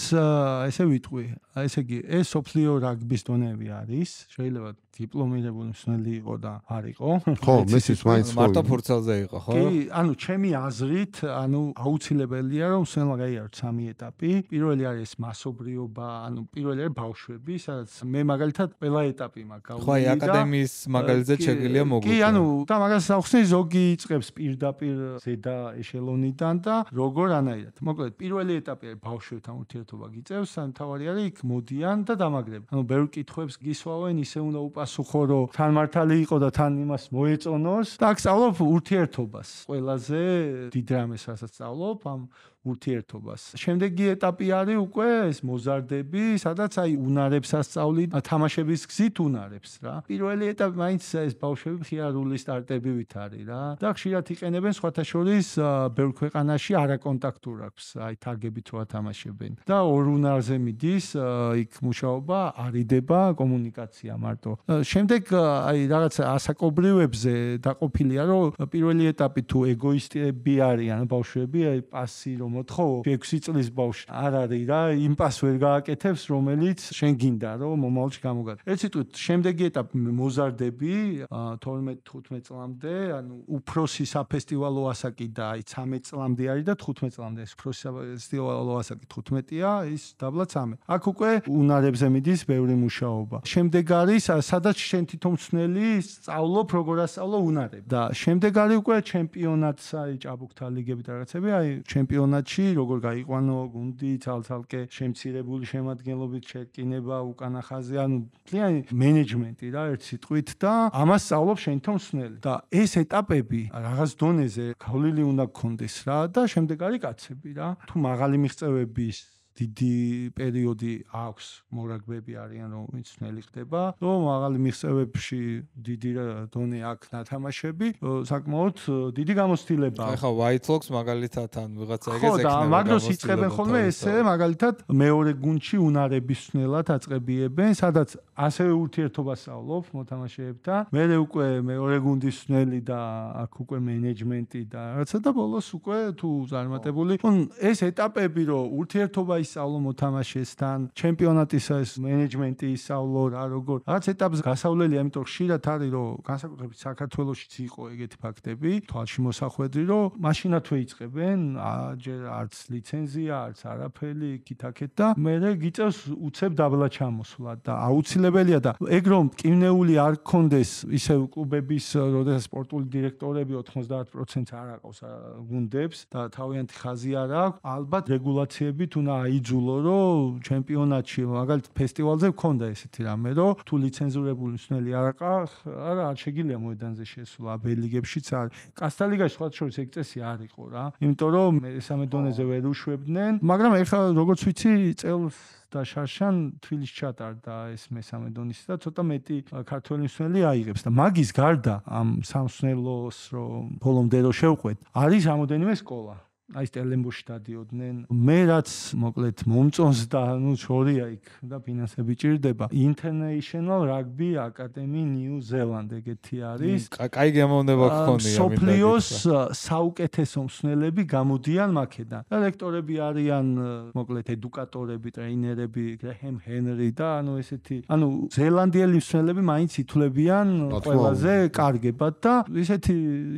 ესე ვიტყვი, ესე იგი, ეს სოფლიო რაგბის დონეები არის, შეიძლება დიპლომირებული მსმელი იყო და არ იყო. ხო, მესიც მაინც მარტო ფურცელზე იყო, ხო? კი, ანუ ჩემი აზრით, ანუ აუცილებელია რომ მსმელმა გაიაროთ სამი ეტაპი. პირველი არის მასობრიობა, ანუ პირველი არის ბავშვები, სადაც მე მაგალითად ყველა ეტაპი მაქვს გავუვლი და ხო, აი აკადემიის მაგალითზე შეგვიძლია მოგვიყვება. კი, ანუ და მაგას ახსნი ზოგი იწყებს პირდაპირ ზედა ეშელონიდან და როგორ ანაირად. მოკლედ, პირველი ეტაპი არის ბავშვებთან ურთიერთობა გიწევს, ან თავარი არის იქ მოდიან და დამაგრებენ. ანუ ბევრ კითხვებს გისვავენ, ისე უნდა უპასუხო, რომ თან მართალი იყო და თან იმას მოეწონოს და აქ სწავლობ ურთიერთობას. ყველაზე დიდ რამეს რასაც სწავლობ ამ ურთიერთობას. შემდეგი ეტაპი არის უკვე ეს მოზარდები, სადაც აი უნარებს ასწავლი, თამაშების გზით უნარებს რა. პირველი ეტაპი მაინც ეს ბავშვები მხიარული სტარტებივით არის რა. და ხშირად იყენებენ სხვათა შორის ბევრ ქვეყანაში არაკონტაქტურ აქვს, აი თარგებით რო ათამაშებენ. და ორ უნარზე მიდის იქ მუშაობა, არიდება კომუნიკაცია მარტო. შემდეგ აი რაღაც ასაკობრივებზე დაყოფილია, რომ პირველი ეტაპი თუ ეგოისტები არიან ბავშვები, აი პასი რომ მოთხოვ ექვსი წლის ბავშვი არ არის რა, იმ პას ვერ გააკეთებს, რომელიც შენ გინდა რომ მომავალში გამოგატო. ერთ სიტყვით, შემდეგი ეტაპი მოზარდები თორმეტ თხუთმეტ წლამდე, ანუ უფროსი საფესტივალო ასაკი და აი ცამეტ წლამდე არის და თხუთმეტ წლამდე ეს უფროსი საფესტივალო ასაკი თხუთმეტია, ის დაბლა ცამეტ. აქ უკვე უნარებზე მიდის ბევრი მუშაობა. შემდეგ არის სადაც შენ თვითონ მსნელი სწავლობ როგორ ასწავლო უნარები. და შემდეგ არის უკვე ჩემპიონატს, აი ჭაბუკთა ლიგები და რაღაცები, აი ჩემპიონატში როგორ გაიყვანო გუნდი, ცალ-ცალკე შემცირებული შემადგენლობით შეკინება, უკანა ხაზი, ანუ ძალიან მენეჯმენტი რა ერთ სიტყვით და ამას სწავლობ შენ თვითონ მსნელი. და ეს ეტაპები რაღაც დონეზე გავლილი უნდა გქონდეს რა და შემდეგ არის კაცები რა. თუ მაღალი მიღწევების დიდი პერიოდი აქვს, მორაგბები არიან რომ ვინც ნელი ხდება, რომ მაღალი მიღწევებში დიდი დონე აქვს ნათამაშები, საკმაოდ დიდი გამოცდილება. ახლა White Fox მაგალითად ან ვიღაცა ეგეც ექნება. ხო, და მაგდროს იწყებენ ხოლმე ესე, მაგალითად მეორე გუნდში უნარების მსნელად აწყებიებენ, სადაც ასევე ურთიერთობას სწავლობ მოთამაშეებთან. მერე უკვე მეორე გუნდის მსნელი და აქ უკვე მენეჯმენტი და რაღაცა და ბოლოს უკვე თუ წარმატებული. ეს ეტაპები რომ ურთიერთობა ისწავლო მოთამაშესთან, ჩემპიონატის ეს მენეჯმენტი ისწავლო რა როგორ. რაც ეტაპს გასავლელია, ამიტომ ხშირად არის რომ განსაკუთრებით საქართველოშიც იყო ეგეთი ფაქტები, თვალში მოსახვედრი რომ მაშინათვე იწყებენ, ჯერ არც ლიცენზია, არც არაფერი, იქით-აქეთ და მერე გიწევს უცებ დაბლა ჩამოსვლა და აუცილებელია და ეგ რომ მტკივნეული არ გქონდეს ისე კლუბების, როდესაც სპორტული დირექტორები ოთხმოცდაათ პროცენტს არ აყავს გუნდებს და თავიანთი ხაზი არ აქვს, ალბათ რეგულაციებით უნდა აიძულო, რომ ჩემპიონატში, მაგალითად ფესტივალზე გქონდა ესეთი რამე, რომ თუ ლიცენზურებული მსნელი არ აყავს, არა არ შეგიძლია მოედანზე შესვლა, ბელიგებშიც არის. კასტა ლიგაში სხვა შორის ეგ წესი არ იყო რა. იმიტომ რომ მესამე დონეზე ვერ უშვებდნენ, მაგრამ ეხლა როგორც ვიცი, წელს და შარშან თბილისში ჩატარდა ეს მესამე დონის და ცოტა მეტი ქართველი მსნელი აიღებს და მაგის გარდა ამ სამსნელოს რომ ბოლომდე რო შევყვეთ, არის რამოდენიმე სკოლა. აი სტელენბოში დადიოდნენ. მე რაც მოკლედ მომწონს და ნუ შორია იქ და ფინანსები ჭირდება. International Rugby Academy New Zealand ეგეთი არის. კაი გემოვნება გქონია. სოფლიოს საუკეთესო მსმენელები გამოდიან მაქედან. და ლექტორები არიან მოკლედ ედუკატორები, ტრეინერები, გრეჰემ ჰენრი და ანუ ესეთი, ანუ ზელანდიელი მსმენელები მაინც ითვლებიან ყველაზე კარგებად და ესეთი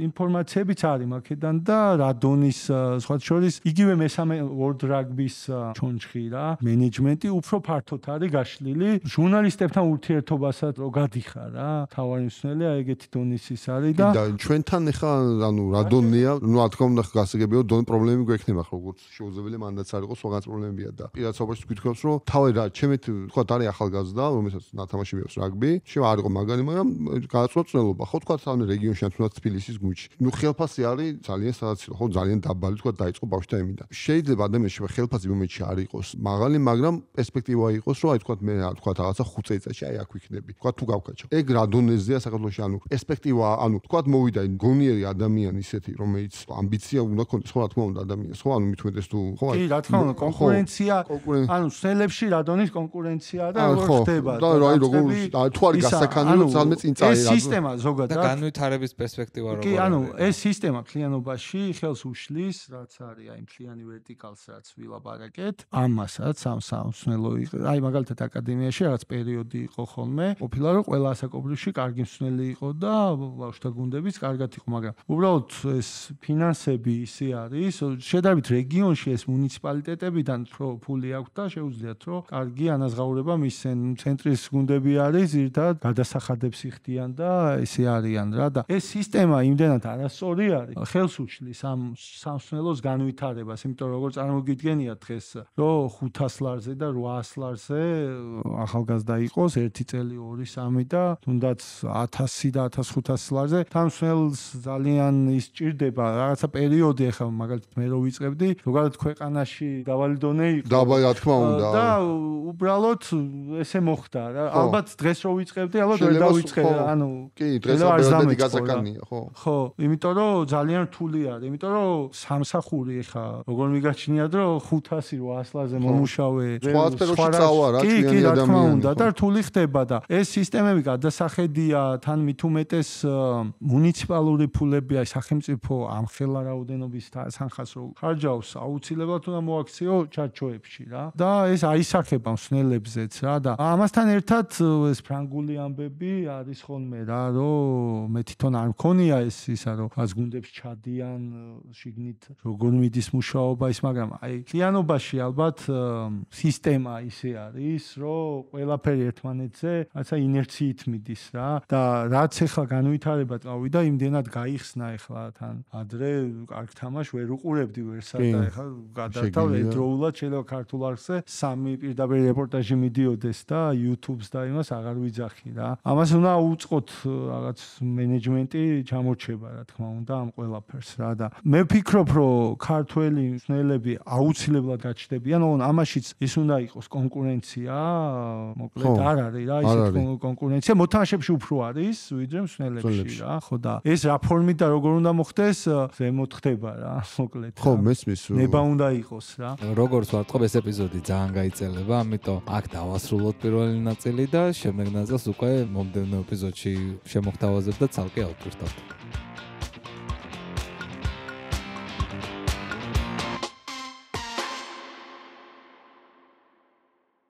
ინფორმაციებიც არის მაქედან და რადონის სხვა შორის იგივე მესამე World Rugby-ს ჩონჩხი რა, მენეჯმენტი უფრო ფართოდ არის გაშლილი. ჟურნალისტებთან ურთიერთობასაც რო გადიხარ რა, თავარი მსმენელია ეგეთი დონის ის არის და და ჩვენთან ეხა ანუ რადონია, ნუ რა თქმა უნდა გასაგებია დონ პრობლემები გვექნება ხო, როგორც შეუძლებელი მანდაც არ იყოს სხვაგან პრობლემებია და პირადსობაში გითხრობს რომ თავი რა ჩემით თქვა არის ახალგაზრდა, რომელსაც ნათამაში მიაქვს რაგბი, შევა არ იყო მაგარი, მაგრამ გააცნო წნელობა ხო თქვა სამი რეგიონში თუნდაც თბილისის გუჩი. ნუ ხელფასი არის ძალიან სადაცილო ხო, ძალიან დაბალი თქვა დაიწყო ბავშვთა იმიდან. შეიძლება ადამიანში ხელფასი მომენტში არ იყოს მაღალი, მაგრამ პერსპექტივა იყოს რომ აი თქვა მე თქვა რაღაცა ხუთ წელიწადში აი აქ ვიქნები. თქვა თუ გავკაჩო. ეგ რა დონეზეა საქართველოში, ანუ პერსპექტივა, ანუ თქვა მოვიდა გონიერი ადამიანი ისეთი, რომელიც ამბიცია უნდა ქონდეს ხო რა თქმა უნდა ადამიანს, ხო ანუ მithumetes თუ ხო კი რა თქმა უნდა კონკურენცია, ანუ სელებში რა დონის კონკურენცია და როგორ ხდება და აი როგორ თუ არის გასაქანი რომ ძალმე წინ წაიღო. ეს სისტემა ზოგადად და განვითარების პერსპექტივა როგორია. კი ანუ ეს სისტემა მთლიანობაში ხელს უშლის, რაც არის აი მთლიანი ვერტიკალს რაც ვილაპარაკეთ, ამასაც ამ სამსმენელო აი მაგალითად აკადემიაში რაღაც პერიოდი იყო ხოლმე, ყოფილა რომ ყველა ასაკობრივში კარგი მსმენელი იყო და ბავშვთა გუნდებიც კარგად იყო, მაგრამ უბრალოდ ეს ფინანსები ისე არის, შედარებით რეგიონში ეს მუნიციპალიტეტებიდან რო ფული აქვს და შეუძლიათ რომ კარგი ანაზღაურება მისცენ. ცენტრის გუნდები არის ზირთად გადასახადებს იხდიან და ესე არიან რა და ეს სისტემა იმდენად არასწორი არის. ხელს უშლის ამ სამსმენელოს განვითარებას, იმიტომ რომ როგორ წარმოგიდგენიათ დღეს რომ ხუთას ლარზე და რვაას ლარზე ახალგაზრდა იყოს ერთი წელი, ორი, სამი და თუნდაც ათასი და ათას ხუთასი ლარზე სამსმენელს ძალიან ის ჭირდება რაღაცა პერიოდი ახლა მაგალითად მე რო ვიწყებდი, ზოგადად ქვეყანაში დაბალი დონე იყო. დაბალი რა თქმა უნდა. და უბრალოდ ესე მოხდა რა. ალბათ დღეს რო ვიწყებდი, ალბათ ვერ დავიწყე, ანუ კი, დღეს აბერდადი გასაკანია, ხო. ხო, იმიტომ რომ ძალიან რთული არის, იმიტომ რომ სამსახური ახლა როგორ მიგაჩნიათ რომ ხუთასი რვაას ლარზე მომუშავე. სხვა სფეროში წავა რა, კი, რა თქმა უნდა და რთული ხდება და ეს სისტემები გადასახედია, თან მithumetes მუნიციპალური ფულები, აი სახელმწიფო ამხელა რაოდენობის თანხას რო ხარჯავს, აუცილებლად უნდა მოაქციო ჩარჩოებში რა. და ეს აისახება მსმენელებზეც რა და ამასთან ერთად ეს ფრანგული ამბები არის ხოლმე რა, რომ მე თვითონ არ მქონია ეს ისა რომ ას გუნდებს ჩადიან შიგნით როგორ მიდის მუშაობა ის, მაგრამ აი კლიანობაში ალბათ სისტემა ისე არის, რომ ყველაფერი ერთმანეთზე რაცა ინერციით მიდის რა და რაც ახლა განვითარება წავიდა, იმდენად გაიხსნა ახლა თან ადრე კარგ თამაშ ვერ უყურებდი ვერსად და ახლა გადართავ ერთდროულად შეიძლება ქართულ არხზე სამი პირდაპირ რეპორტაჟი მიდიოდეს და YouTube-ს და იმას აღარ ვიძახი რა. ამას უნდა უწყოთ რაღაც მენეჯმენტი ჩამორჩება რა თქმა უნდა ამ ყველაფერს რა და მე ვფიქრობ რომ ქართველი მსმენელები აუცილებლად გაჩნდებიან, ოღონ ამაშიც ის უნდა იყოს კონკურენცია, მოკლედ არ არის რა ისეთი კონკურენცია, მოთამაშეებში უფრო არის ვიდრე მსმენელებში რა, ხო და ეს რა ფორმით და როგორ უნდა მოხდეს, ზემოთ ხდება რა, მოკლედ. ხო, მესმის. ნება უნდა იყოს რა. როგორც ვარწყობ ეს ეპიზოდი ძალიან გაიწელება, ამიტომ აქ დავასრულოთ პირველი ნაწილი და შემდეგ ნაწილს უკვე მომდევნო ეპიზოდში შემოგთავაზებ და ცალკე ავტვირთავთ.